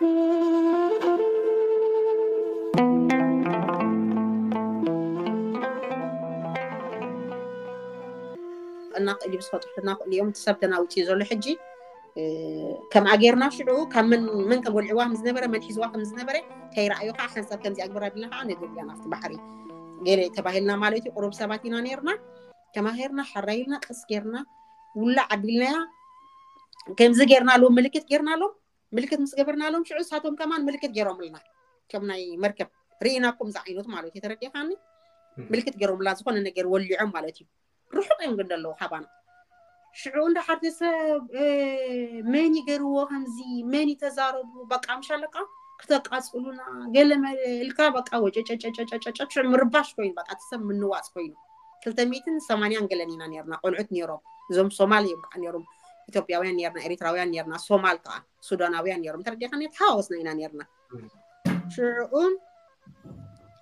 እናኽእል እዩ ዝፈጥሩ እናኽእል እዮም። እቲ ሰብ ተናውፂ ዘሎ ሕጂ ከምኣ ጌርና ሽዑ ካብ መን መን ከም ወልዕዋ ከም ዝነበረ መን ሒዝዋ ከም ዝነበረ ከይረኣዩ ከዓ ሓንሳብ ከምዚ ኣግብር ኣቢልና ከዓ ነግር ኢና ኣብቲ ባሕሪ ገለ ተባሂልና ማለት እዩ። ቁሩብ ሰባት ኢና ነርና። ተማሂርና ሓራይ ኢልና ቀስ ጌርና ውላዕ ኣቢልናያ። ከምዚ ጌርና ኣለዎም ምልክት ጌርና ኣለዎም ምልክት ምስ ገበርናሎም ሽዑ እሳቶም ከማን ምልክት ገይሮምልና። ከም ናይ መርከብ ርኢናኩም ዝዓይነቱ ማለት እዩ። ተረዲኻኒ? ምልክት ገይሮምላ ዝኾነ ነገር ወሊዖም ማለት እዩ። ርሑቕ እዮም ግን ዘለዉ ካባና። ሽዑ እንዳ ሓርቲ ሰብ መን ይገርዎ ከምዚ መን ይተዛረቡ በቃ ምሻለቃ ክተቃፅሉና ገለ ኢልካ በቃ ወጨጨጨጨጨጨ ሽዑ ምርባሽ ኮይኑ በቃ እቲ ሰብ ምንዋፅ ኮይኑ። ክልተ ሚእትን ሰማንያን ገለን ኢና ነርና ቆልዑት ነሮም። እዞም ሶማል እዮም ከዓ ነሮም። ኢትዮጵያውያን ነርና ኤሪትራውያን ነርና ሶማል ከዓ ሱዳናውያን ነሮም። ተረዲኻኒ ተሓዋወስና ኢና ነርና። ሽዑ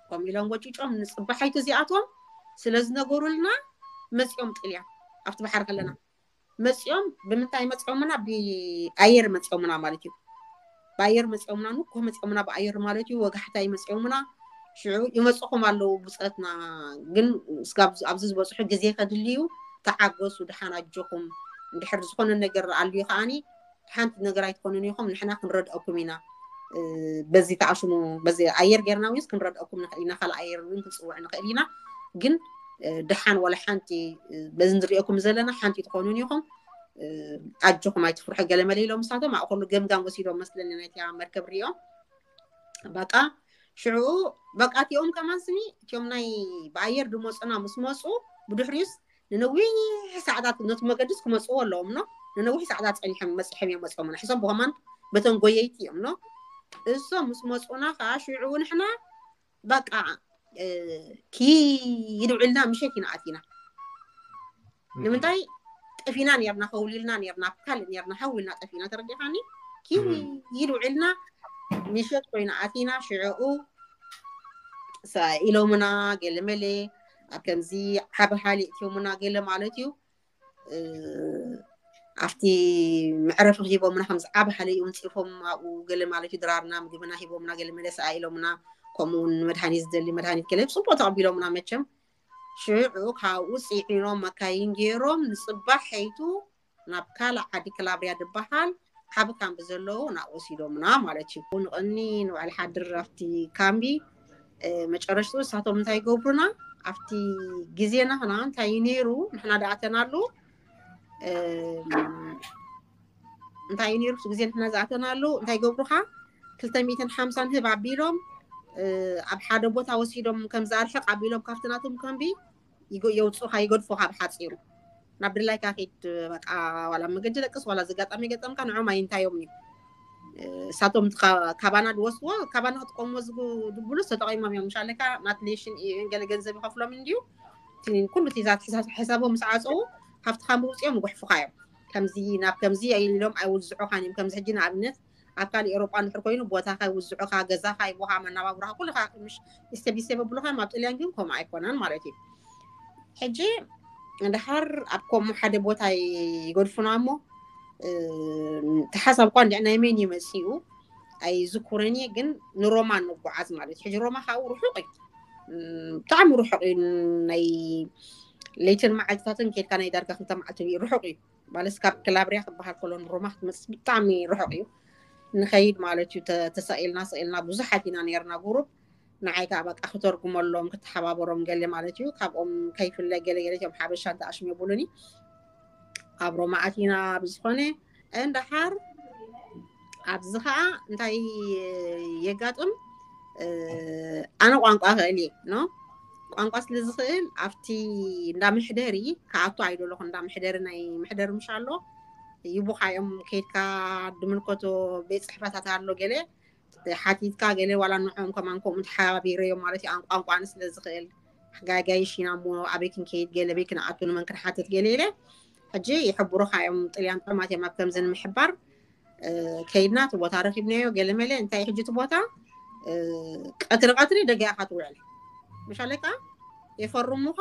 ከምኡ ኢሎም ወጭጮም ንፅባሓይቲ እዚኣቶም ስለ ዝነገሩልና መፂኦም ጥልያን ኣብቲ ባሕሪ ከለና መፂኦም ብምንታይ መፂኦምና ብኣየር መፂኦምና ማለት እዩ። ብኣየር መፂኦምና ንኮ መፂኦምና ብኣየር ማለት እዩ። ወጋሕታ ይመፂኦምና ሽዑ ይመፅኹም ኣለዉ ብፀትና ግን ስጋብ ኣብዚ ዝበፅሑ ግዜ ከድልዩ ተዓገሱ ድሓን ኣጆኹም እንድሕር ዝኾነ ነገር ኣልዩ ከዓኒ ሓንቲ ነገር ኣይትኾኑን ኢኹም ንሕና ክንረድአኩም ኢና። በዚ ተኣሽሙ በዚ ኣየር ጌርና ውንስ ክንረድአኩም ንኽእል ኢና ካልእ ኣየር እውን ክንፅውዕ ንኽእል ኢና። ግን ድሓን ዋላ ሓንቲ በዚ ንሪኦኩም ዘለና ሓንቲ ትኾኑን ኢኹም። ኣጆኹም ኣይትፍርሑ ገለ መለ ኢሎም ንሳቶም ኣብኡ ከሉ ገምጋም ወሲዶም መስለኒ ናይታ መርከብ ሪኦም በቃ ሽዑ በቃ እቲኦም ከማን ስኒ እቲኦም ናይ ብኣየር ድመፁና ምስ መፁ ብድሕሪዩስ ንነዊሕ ሰዓታት ነቲ መገድስ ክመፅዎ ኣለዎም ኖ ንነዊሕ ሰዓታት ፀኒሖም መፅሖም እዮም መፅኦምና ሕሶም ብኸማን በተን ጎየይቲ እዮም ኖ እሶም ምስ መፁና ከዓ ሽዑ ንሕና በቃ ኪድ ውዕልና ምሸት ኢና ኣቲና ንምንታይ ጠፊና ነርና ከውሊልና ነርና ኣብ ካልእ ነርና ሃው ኢልና ጠፊና ተረዲኻኒ ኪድ ውዕልና ምሸት ኮይና ኣቲና ሽዕኡ ኢሎምና ገለ መለ ኣብ ከምዚ ዓቢ ሃሊ እትዮምና ገለ ማለት እዩ ኣብቲ መዕረፊ ሂቦምና ከምዚ ዓቢ ሃሊ እዩ ምንፂፎም ኣብኡ ገለ ማለት እዩ ድራርና ምግብና ሂቦምና ገለ መለ ሰኣ ኢሎምና ከምኡ እውን መድሃኒት ዝደሊ መድሃኒት ገለ ፅቡቅ ተቐቢሎምና መቸም ሽዑ ካብኡ ፅዒኖም መካይን ገይሮም ንፅባሕ ሐይቱ ናብ ካልእ ዓዲ ክላብርያ ዝበሃል ዓቢ ካምቢ ዘለዉ ናብኡ ወሲዶምና ማለት እዩ። ንቕኒ ንውዕል ሓድር ኣብቲ ካምቢ መጨረሽትኡ ንሳቶም እንታይ ይገብሩና ኣብቲ ግዜ ናህና እንታይ እዩ ነይሩ ንሕና ደኣተናሉ እንታይ እዩ ነይሩ ግዜ ንሕና ዝኣተናሉ እንታይ ይገብሩኻ ክልተ ሚእትን ሓምሳን ህብ ኣቢሎም ኣብ ሓደ ቦታ ወሲዶም ከም ዝኣርሕቕ ኣቢሎም ካብቲ ናቶም ካምቢ የውፅኡኻ ይገድፉኻ ብሓፂሩ ናብ ድላይካ ኪድ በቃ ዋላ መገዲ ደቅስ ዋላ ዝጋጣሚ ገጠምካ ንዖም ኣይንታዮም እዩ እሳቶም ካባና ዝወስድዎ ካባና ክጥቀምዎ ዝብሉ ተጠቂሞም እዮም ምሻለካ ናት ሌሽን ገለ ገንዘብ ይኸፍሎም እንድዩ ኩሉ ዛት ሕሳቦም ምስ ዓፀዉ ካብቲ ካምቢ ውፅኦም ይጉሕፉኻ እዮም ከምዚ ናብ ከምዚ ኢሎም ኣይውዝዑኻን እዮም ከምዚ ሕጂ ንኣብነት ኣብ ካልእ ኤሮጳ እንድሕር ኮይኑ ቦታኻ ይውዝዑኻ፣ ገዛኻ ይቦኻ፣ መናባብሮኻ ኩልኻ ምሽ ስቴብ ብስቴብ ኣብሉኻ እዮም። ኣብ ጥልያን ግን ከምኡ ኣይኮነን ማለት እዩ። ሕጂ እንድሓር ኣብ ከምኡ ሓደ ቦታ ይገድፉና እሞ ተሓሳብ እኳ እንድዕ ናይ መን እዩ መፂኡ ኣይዝኩረን እየ፣ ግን ንሮማ ንጓዓዝ ማለት እዩ። ሕጂ ሮማ ካብኡ ርሑቕ እዩ፣ ብጣዕሚ ርሑቕ እዩ። ናይ ለይትን መዓልትታትን ኬድካ ናይ ዳርጋ ክልተ መዓልቲ ርሑቕ እዩ። ማለት ካብ ክላብርያ ክበሃል ከሎ ንሮማ ክትመፅእ ብጣዕሚ ርሑቕ እዩ። ንኸይድ ማለት እዩ ተሳኢልና ስኢልና ብዙሓት ኢና ነርና ጉሩብ ንዓይ ከዓ በቃ ክተርጉመሎም ክተሓባበሮም ገለ ማለት እዩ። ካብኦም ከይፍለ ገለ ገለ እቲኦም ሓበሻ እንተኣሽም የብሉኒ ኣብ ሮማ ኣቲና ብዝኾነ እንድሓር ኣብዚ ከዓ እንታይ የጋጥም ኣነ ቋንቋ ክእል እየ ኖ ቋንቋ ስለ ዝኽእል ኣብቲ እንዳ መሕደሪ ከኣቱ ኣይደለኹ እንዳ መሕደሪ ናይ መሕደሪ ምሽ ኣሎ ይቡኻ እዮም ከይድካ ድምልከቶ ቤት ፅሕፈታት ኣሎ ገለ ሓቲትካ ገለ ዋላ ንዕኦም ከማን ከምኡ ተሓባቢረዮም ማለት እዩ ቋንቋን ስለ ዝኽእል ጋጋይሽ ኢና እሞ ኣበይ ክንከይድ ገለ በይ ክንኣቱ ንመን ክንሓትት ገለ ኢለ ሕጂ ይሕብሩኻ እዮም ጥልያን ጥዑማት እዮም ኣብ ከምዚ ንምሕባር ከይድና እቲ ቦታ ረኪብናዮ ገለ መለ እንታይ ሕጂ እቲ ቦታ ቀትሪ ቀትሪ ደገ ኢኻ ትውዕል ምሻለካ የፈርሙኻ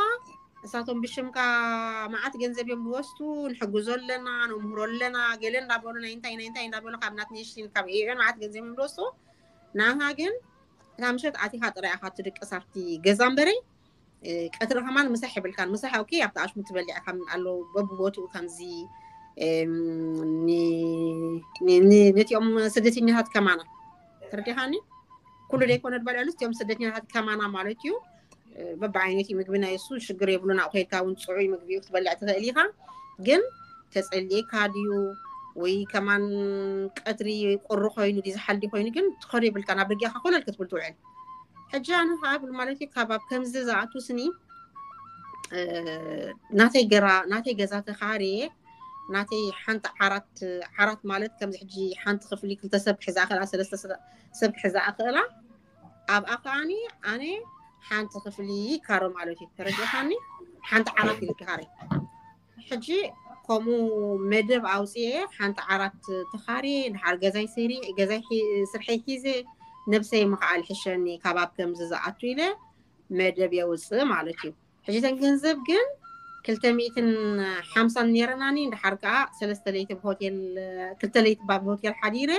እሳቶም ብሽምካ መዓት ገንዘብ እዮም ዝወስዱ። ንሕግዞ ኣለና፣ ነምህሮ ኣለና፣ ገለ እንዳበሉ ናይ እንታይ ናይ እንታይ እንዳበሉ ካብ ናት ኔሽን ካብ ኤዩኤን መዓት ገንዘብ እዮም ዝወስዱ። ንዓኻ ግን እታ ምሸት ኣቲኻ ጥራይ ኢኻ ትድቅስ ኣብቲ ገዛ እምበረይ ቀትሪ ከማን ምሳሕ የብልካን። ምሳሕ ኦኬ ኣብቲ ኣሽሙ ትበሊዕ ከም ኣሎ በብቦትኡ ከምዚ ነቲኦም ስደተኛታት ከማና ተረዲኻኒ። ኩሉ ዘይኮነ ድበልዕሉ እቲኦም ስደተኛታት ከማና ማለት እዩ። በብዓይነት ምግቢ ናይ እሱ ሽግር የብሉን። ኣብኡ ከይድካ እውን ፅዑይ ምግቢ ክትበልዕ ትኽእል ኢኻ። ግን ተፀሊእካ ድዩ ወይ ከማን ቀትሪ ቁሪ ኮይኑ ድዩ ዝሓልዲ ኮይኑ ግን ትኸዶ የብልካ። ናብ ደጊኻ ኮለል ክትብል ትውዕል። ሕጂ ኣነ ከዓ ብል ማለት እዩ ካብ ኣብ ከምዚ ዝኣቱ ስኒ ናተይ ገራ ናተይ ገዛ ተኻርየ ናተይ ሓንቲ ዓራት ዓራት ማለት ከምዚ ሕጂ ሓንቲ ክፍሊ ክልተ ሰብ ክሕዛ ክእላ ሰለስተ ሰብ ክሕዛ ክእላ ኣብኣ ከዓኒ ኣነ ሓንቲ ክፍሊ ይካሮ ማለት እዩ። ተረዲኻኒ? ሓንቲ ዓራት ኢልኪ ካሬ። ሕጂ ከምኡ መደብ ኣውፅኤ ሓንቲ ዓራት ተኻሪ ድሓር ገዛይ ሰሪ ገዛይ ስርሐይ ሒዘ ነብሰይ ምኽዓል ሕሸኒ ካብ ኣብ ከምዚ ዝኣቱ ኢለ መደብ የውፅእ ማለት እዩ። ሕጂ ተን ገንዘብ ግን ክልተ ሚእትን ሓምሳን ነይረናኒ። ድሓር ከዓ ሰለስተ ለይቲ ብሆቴል ክልተ ለይቲ ባብ ሆቴል ሓዲረ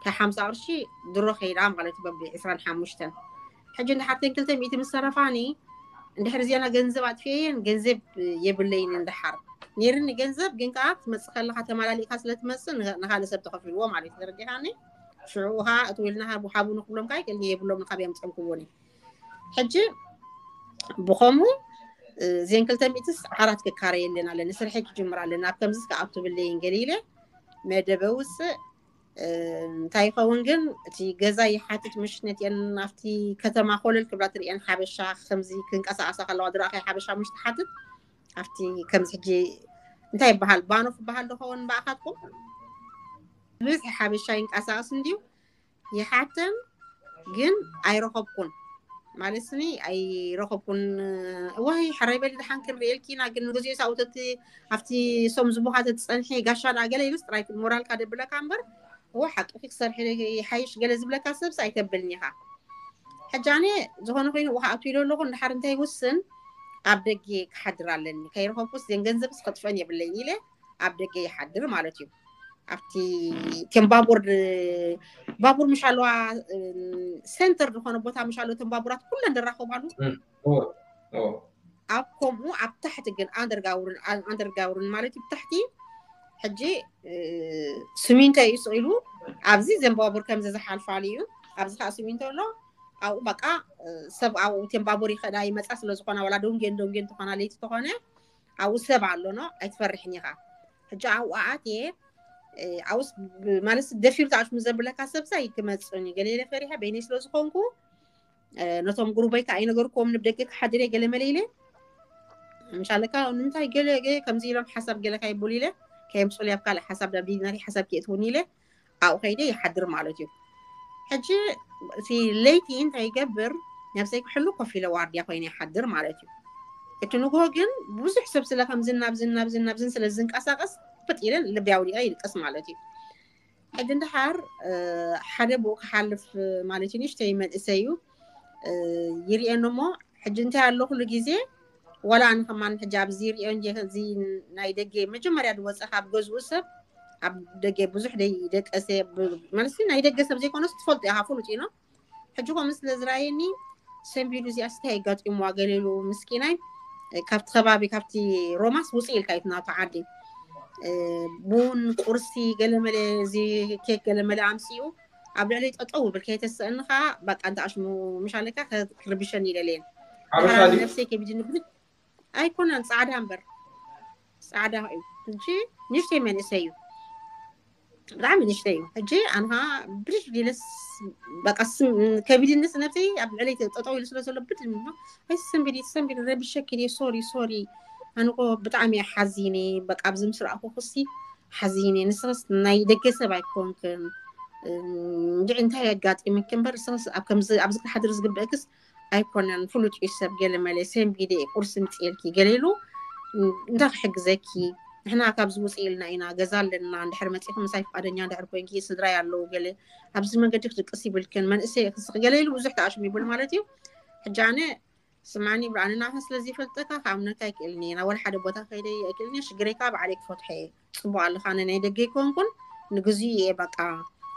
ካብ ሓምሳ ቅርሺ ድሮ ከይዳ ማለት እዩ። በብ ዕስራን ሓሙሽተን ሕጂ እንድሓር ተን ክልተ ሚእቲ ምስ ሰረፋኒ እንድሕር እዚኣና ገንዘብ ኣጥፍኤየን ገንዘብ የብለይን። እንድሓር ነይርኒ ገንዘብ ግን ከዓ ክትመፅእ ከለካ ተመላሊእካ ስለትመፅእ ንካልእ ሰብ ተኸፊልዎ ማለት እዩ። ተረዲኻኒ? ሽዑ ከዓ እትው ኢልና ሃቡ ንክብሎም ከዓ ይክእልኒ የብሎም ንካብ የምፀምክዎኒ። ሕጂ ብኸምኡ እዚን ክልተ ሚእትስ ዓራት ክካረየለን ኣለኒ ስርሐይ ክጅምር ኣለኒ ኣብ ከምዚ ክኣቱ ብለይን ገሊለ መደበ ውፅእ እንታይ ይኸውን ግን እቲ ገዛ ይሓትት ምሽ ነትአን ኣብቲ ከተማ ኮለል ክብላ ትርእየን ሓበሻ ከምዚ ክንቀሳቀሳ ከለዋ ዝረኣኸ ሓበሻ ምሽ ትሓትት ኣብቲ ከምዚ ሕጂ እንታይ ይበሃል ባኖ ክበሃል ዝኸውን በኣኻትኩም ብዝሒ ሓበሻ ይንቀሳቀስ እንድዩ ይሓተን ግን ኣይረኸብኩን ማለት ስኒ ኣይረኸብኩን። እዋይ ሕራይ በሊ ድሓን ክንርእየልኪ ኢና ግን ንግዚኡ ሳውተቲ ኣብቲ ሶም ዝቡኻ ተትፀንሒ ጋሻ ዳ ገለ ኢሉስ ጥራይ ሞራልካ ደብለካ እምበር እዋ ሓቅኺ ክሰርሒ ይሓይሽ ገለ ዝብለካ ሰብስ ኣይተብልኒ ኢኻ። ሕጂ ኣነ ዝኾነ ኮይኑ ውሃ ኣቱ ኢሎ ኣለኹ እንድሓር እንታይ ይውስን ኣብ ደገ ክሓድር ኣለኒ ከይረኸብኩስ ዘን ገንዘብስ ከጥፍአን የብለይን ኢለ ኣብ ደገ ይሓድር ማለት እዩ። ኣብቲ ከም ባቡር ባቡር ምሽ ኣለዋ ሴንተር ዝኾነ ቦታ ምሽ ኣለዎ እቶም ባቡራት ኩለን ዝራኸባሉ ኣብ ከምኡ ኣብ ታሕቲ ግን ኣንደርጋውርን ኣንደርጋውርን ማለት እዩ ብታሕቲ ሕጂ ስሚንቶ እዩ ስቕ ኢሉ ኣብዚ ዘን ባቡር ከምዚ ዝሓልፋሉ እዩ። ኣብዚ ከዓ ስሚንቶ ኣሎ ኣብኡ በቃ ሰብ ኣብኡ እተን ባቡር ይኸዳ ይመፃ ስለዝኾና ዋላ ደንጌን ደንጌን ተኾና ለይቲ ተኾነ ኣብኡ ሰብ ኣሎ ኖ ኣይትፈርሕን ኢኻ። ሕጂ ኣብኡ ኣትየ ኣብኡስ ማለት ደፊሩ ተኣሽሙ ዘብለካ ሰብሳ ይክመፅን እዩ ገሌለ ፈሪሐ በይነይ ስለዝኾንኩ ነቶም ጉሩበይ ከዓ ኣይነገርክዎም ንብደገ ክሓድር እየ ገለ መለ ኢለ ምሻለካ ንምንታይ ገለ ከምዚ ኢሎም ሓሳብ ገለ ካይቡል ኢለ ከየምፅሉ ኣብ ካልእ ሓሳብ ናብ ዲናሪ ሓሳብ ክእትውኒ ኢለ ኣብኡ ከይደ ይሓድር ማለት እዩ። ሕጂ እቲ ለይቲ እንታይ ይገብር ነብሰይ ክሕሉ ኮፍ ኢለ ዋርድያ ኮይነ ይሓድር ማለት እዩ። እቲ ንግሆ ግን ብዙሕ ሰብ ስለ ከምዝን ናብዝን ናብዝን ናብዝን ስለ ዝንቀሳቀስ ፍጥ ኢለን ልቢ ኣውዲቀ ይልቀስ ማለት እዩ። ሕጂ እንድሓር ሓደ ብኡ ክሓልፍ ማለት እዩ ንእሽተይ መንእሰይ እዩ ይርእየኒ እሞ ሕጂ እንታይ ኣሎ ኩሉ ግዜ ዋላ ኣነ ከማን ሕጂ ኣብዚ ይርእዮ እንጂ እዚ ናይ ደገ መጀመርያ ዝወፀ ካብ ገዝኡ ሰብ ኣብ ደገ ብዙሕ ደይ ደቀሰ ማለት ናይ ደገ ሰብ ዘይኮነስ ትፈልጡ ኢኻ ፍሉጥ ኢኖ ሕጂ ከምኡ ስለ ዝረኣየኒ ሰንቢዱ እዚኣ ስታይ ኣጋጢምዋ ገለ ኢሉ ምስኪናይ ካብቲ ከባቢ ካብቲ ሮማስ ውፅእ ኢልካ እዩ ናቱ ዓዲ ቡን ቁርሲ ገለመለ እዚ ኬክ ገለመለ ኣምፅኡ ኣብ ልዕሊ ጠጠው ብል ከይተስእኒ ከዓ በቃ እንተ ኣሽሙ ምሻለካ ክርብሸኒ ይደለየን ሓበሻ ድዩ? ነብሰይ ከቢድኒ ብድ ኣይኮነን ፃዕዳ እምበር ፃዕዳ እዩ እንጂ ንእሽተይ መንእሰይ እዩ ብጣዕሚ ንእሽተይ እዩ ሕጂ ኣንኻ ብድሽ ዲለስ በቃ ስም- ከቢድንስ ነብሰይ ኣብ ልዕለይ ጠጠው ኢሉ ስለ ዘሎ ብድ ኣይሰንቢድ ይሰንቢድ ረብሸኪ ድየ ሶሪ ሶሪ ኣንቆ ብጣዕሚ እየ ሓዚነ በቃ ኣብዚ ምስ ረኣኹ ክሲ ሓዚነ ንስኽስ ናይ ደገ ሰብ ኣይኮንክን እንድዒ እንታይ የጋጢምኪ እምበር ንስኽስ ኣብ ከምዚ ኣብዚ ክሓድር ዝግበእክስ ኣይኮነን ፍሉጥ እዩ ሰብ ገለ መለ ሰንቢደ ቁርሲ ምፅኤልኪ ገለ ኢሉ እንታይ ክሕግዘኪ ንሕና ካብዚ ውፅእ ኢልና ኢና ገዛ ኣለና እንድሕር መፂእኪ ምሳይ ፍቃደኛ እንድሕር ኮይንኪ ስድራይ ኣለዉ ገለ ኣብዚ መንገዲ ክድቅስ ይብልክን መንእሰይ ክስኽ ገለ ኢሉ ብዙሕ ተኣሽሙ ይብል ማለት እዩ ሕጂ ኣነ ስማኒ ብርሃን፣ ንዓኻ ስለ ዘይፈልጠካ ክኣምነካ ኣይክእልን እየ። ናብ ወላ ሓደ ቦታ ከይደ ኣይክእልን እየ። ሽግረይ ከዓ ባዕለይ ክፈትሖ እየ። ፅቡቅ ኣለካ፣ ኣነ ናይ ደገ ኣይኮንኩን፣ ንግዜኡ እየ በቃ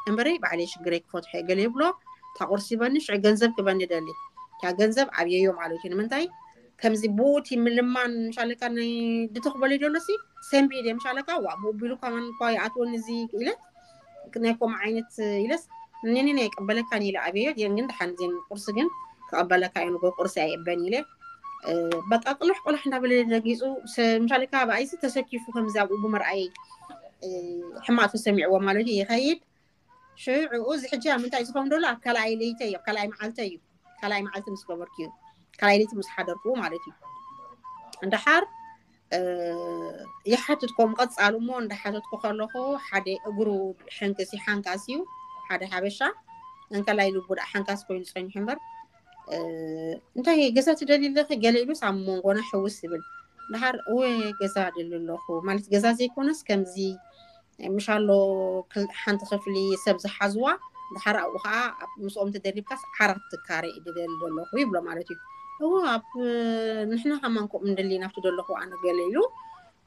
እምበረይ ባዕለይ ሽግረይ ክፈትሖ እየ። ገለ ይብሎ፣ እታ ቁርሲ ይበኒ፣ ሽዑ ገንዘብ ክበኒ ደሊ። እታ ገንዘብ ኣብየዮ ማለት እዩ። ንምንታይ ከምዚ ብኡቲ ምልማን ምሻለካ ናይ ድትኽበሉ ደሎሲ ሰንቢ ኢደ ምሻለካ ዋ ብኡ ቢሉ ከማን እኳ ይኣትወኒ እዚ ኢለ ናይ ኮም ዓይነት ኢለስ እኔኔ ናይ ቀበለካ ኒለ ኣብየዮ ግን ደሓን ዜን ቁርሲ ግን ክቐበለካ እዩ ንጎ ቁርሲ ኣይእበን ኢለ። በቃ ቅልሕ ቅልሕ እንዳበለ ነጊፁ። ምሻለካ ብኣይሲ ተሰኪፉ ከምዚ ኣብኡ ብምርኣይ ሕማቅ ተሰሚዕዎ ማለት እዩ። ይኸይድ ሽዑ እዚ ሕጂ ኣብ ምንታይ ዝኸውን ደሎ ኣብ ካልኣይ ለይተ እዩ፣ ኣብ ካልኣይ መዓልተ እዩ። ካልኣይ መዓልቲ ምስ ገበርኩ እዩ፣ ካልኣይ ለይቲ ምስ ሓደርኩ ማለት እዩ። እንድሓር ይሓትት ከም ቀጻሉ እሞ እንዳሓተትኩ ከለኹ ሓደ እግሩ ሕንክሲ ሓንካስ እዩ፣ ሓደ ሓበሻ እንከላይ ልቡ ደኣ ሓንካስ ኮይኑ ጸኒሑ እምበር እንታይ ገዛ ትደሊ ኣለኺ ገለ ኢሉስ ኣብ መንጎና ሕውስ ዝብል። ድሓር እወ ገዛ ደሊ ኣለኹ ማለት ገዛ ዘይኮነስ ከምዚ ምሻሎ ሓንቲ ክፍሊ ሰብ ዝሓዝዋ ድሓር ኣብኡ ከዓ ምስኦም ተደሪብካስ ዓራት ትካረ እዩ ደሊ ዘለኹ ይብሎ ማለት እዩ። እዎ ኣብ ንሕና ከማን ከምኡ ንደሊ ናብቲ ደለኹ ኣነ ገለ ኢሉ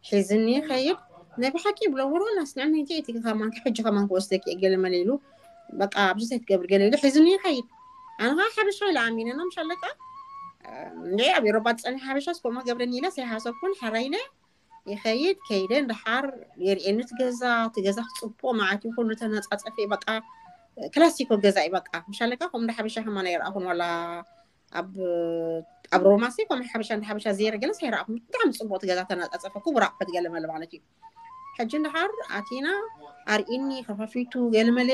ሒዝኒ ይኸይድ። ናይ ብሓቂ ይብሎ ወሮ ናስንዕኒ እቲ ከማን ሕጂ ከማን ክወስደኪ ገለ መለ ኢሉ በቃ ኣብዚ እንታይ ትገብር ገለ ኢሉ ሒዝኒ ይኸይድ። ኣነ ከዓ ሓበሻ ኢለ ኣሚነ ነው ምሻለካ እንደ ኣብ ኤሮባ ዝፀንሐ ሓበሻ ስኮማ ገብረኒ ኢለ ዘይሓሰብኩን ሓራ ኢለ ይኸይድ። ከይደ እንድሓር የርእየኒ እቲ ገዛ እቲ ገዛ ክፅቡቅ ማለት እዩ ኩሉ ተነፃፀፈ በቃ ክላሲኮ ገዛ እዩ በቃ ምሻለካ ከም እንደ ሓበሻ ከማን ኣይረኣኹን ዋላ ኣብ ኣብ ሮማሲ ከም ሓበሻ እንደ ሓበሻ ዘይረ ገለስ ኣይረኣኹን። ብጣዕሚ ፅቡቅ እቲ ገዛ ተነፃፀፈ ክቡር ኣቁሑት ገለ መለ ማለት እዩ። ሕጂ እንድሓር ኣቲና ኣርኢኒ ከፈፊቱ ገለመለ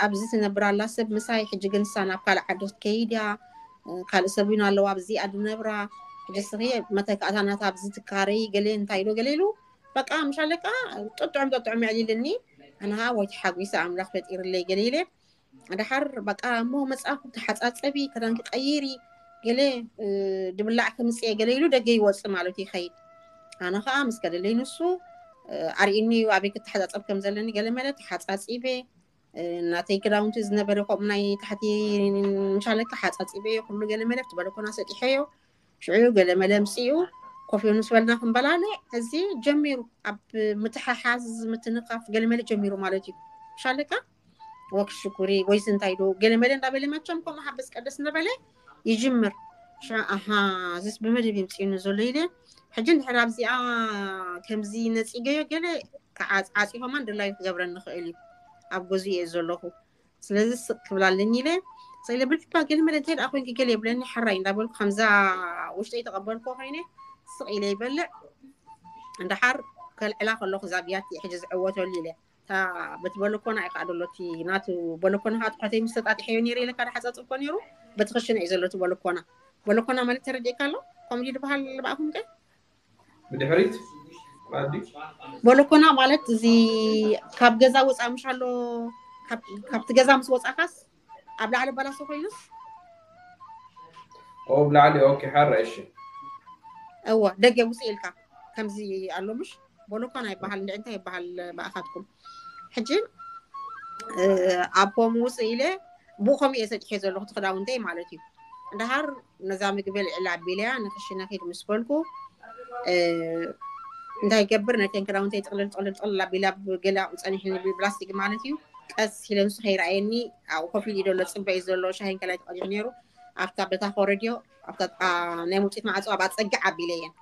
ኣብዚ ትነብር ኣላ ሰብ ምሳይ ሕጂ ግን ንሳ ናብ ካልእ ዓዲ ክትከይድ እያ ካልእ ሰብ እውን ኣለዋ ኣብዚ ኣዲ ነብራ ሕጂ ስኺ መተካእታ ናታ ኣብዚ ትካረይ ገለ እንታይ ኢሎ ገለ ኢሉ በቃ ምሻለካ ጥጥዑም ጥጥዑም የዕሊልኒ ኣነሃ ወይ ተሓጒሰ ኣምላኽ ፈጢርለይ ገለ ኢለ ድሓር በቃ እሞ መፅኣኹ ተሓፃፀቢ ክዳንኪ ቀይሪ ገለ ድብላዕ ከምፅእ ገለ ኢሉ ደገ ይወፅእ ማለት ይኸይድ። ኣነ ከዓ ምስ ከደለይ ንሱ ኣርእኒ ኣበይ ክተሓፃፀብ ከም ዘለኒ ገለ መለ ተሓፃፂበ እናተይ ክዳውንቲ ዝነበረ ከምኡ ናይ ታሕቲ ምሻለካ ሓፃፂበ ኩሉ ገለ መለ ትበለኮና ሰጢሐዮ ሽዑ ገለ መለ ምፅኡ ኮፍ ምስ በልና ክንበላለ እዚ ጀሚሩ ኣብ ምትሓሓዝ ምትንኻፍ ገለ መለ ጀሚሩ ማለት እዩ። ምሻለካ ወክ ሽኩሪ ወይስ እንታይ ዶ ገለ መለ እንዳበለ መቸም ከምኡ ሓበስ ቀደስ እንዳበለ ይጅምር። ሽዑ ኣሃ እዚስ ብመደብ ይምፅእኒ ዘሎ ኢለ ሕጂ እንድሕር ኣብዚኣ ከምዚ ነፂገዮ ገለ ዓፂ ከማን ድላዩ ክገብረኒ ይኽእል እዩ ኣብ ገዝኡ እየ ዘለኹ ስለዚ ስቕ ክብል ኣለኒ ኢለ ስቕ ኢለ ብልሕባ ገለ መለ እንታይ ደኣ ኮይንኪ ገለ የብለኒ ሓራይ እንዳበልኩ ከምዛ ውሽጠይ ተቐበልኩ ኮይነ ስቕ ኢለ ይበልዕ እንድሓር ከልዕላ ከለኹ እዛ ብያቲ ሕጂ ዝዕወተሉ ኢለ እታ በቲ በለኮና እዩ ከዓ ደሎ እቲ ናቱ በለኮና ከዓ ትሕተይ ምስ ተጣጢሐዮ ነይረ ኢለ ካደ ሓፀፅብ እኮ ነይሩ በቲ ክሽነ እዩ ዘሎ እቲ በለኮና በለኮና ማለት ተረዲእካ ኣሎ ከምኡ ድዩ ዝበሃል ብኣኹም ከ ብድሕሪት ኣዲ በለኮና ማለት እዚ ካብ ገዛ ወፃ ምሽ ኣሎ ካብቲ ገዛ ምስ ወፃካስ ኣብ ላዕሊ በላሶ ኮይኑስ ኦ ብላዕሊ ኦኬ ሓራ እሺ እወ ደገ ውፅእ ኢልካ ከምዚ ኣሎ ምሽ በለኮና ይበሃል እንደ እንታይ ይበሃል ብኣኻትኩም ሕጂ ኣብ ፖም ውፅእ ኢለ ብኡ ከምኡ እየ ሰጢሐ ዘለኹ እቲ ክዳውንተይ ማለት እዩ እንድሃር ነዛ ምግቢ ልዕሊ ኣቢለያ ንክሽነ ኪድ ምስ በልኩ እንታይ ይገብር ነተን ክዳውንተይ ጥቕልል ጥቕልል ጥቕልል ኣቢላ ገለ ጸኒሕኒ ብፕላስቲክ ማለት እዩ ቀስ ኢለ ንሱ ከይረኣየኒ ኣብኡ ኮፍ ኢሉ ዘሎ ፅበ እዩ ዘሎ ሻሂን ከላይ ተቐዲሑ ነይሩ ኣብታ በታ ኮረድዮ ኣብታ ናይ መውፅኢት ማዕፆ ኣብ ኣፀግዕ ኣቢለየን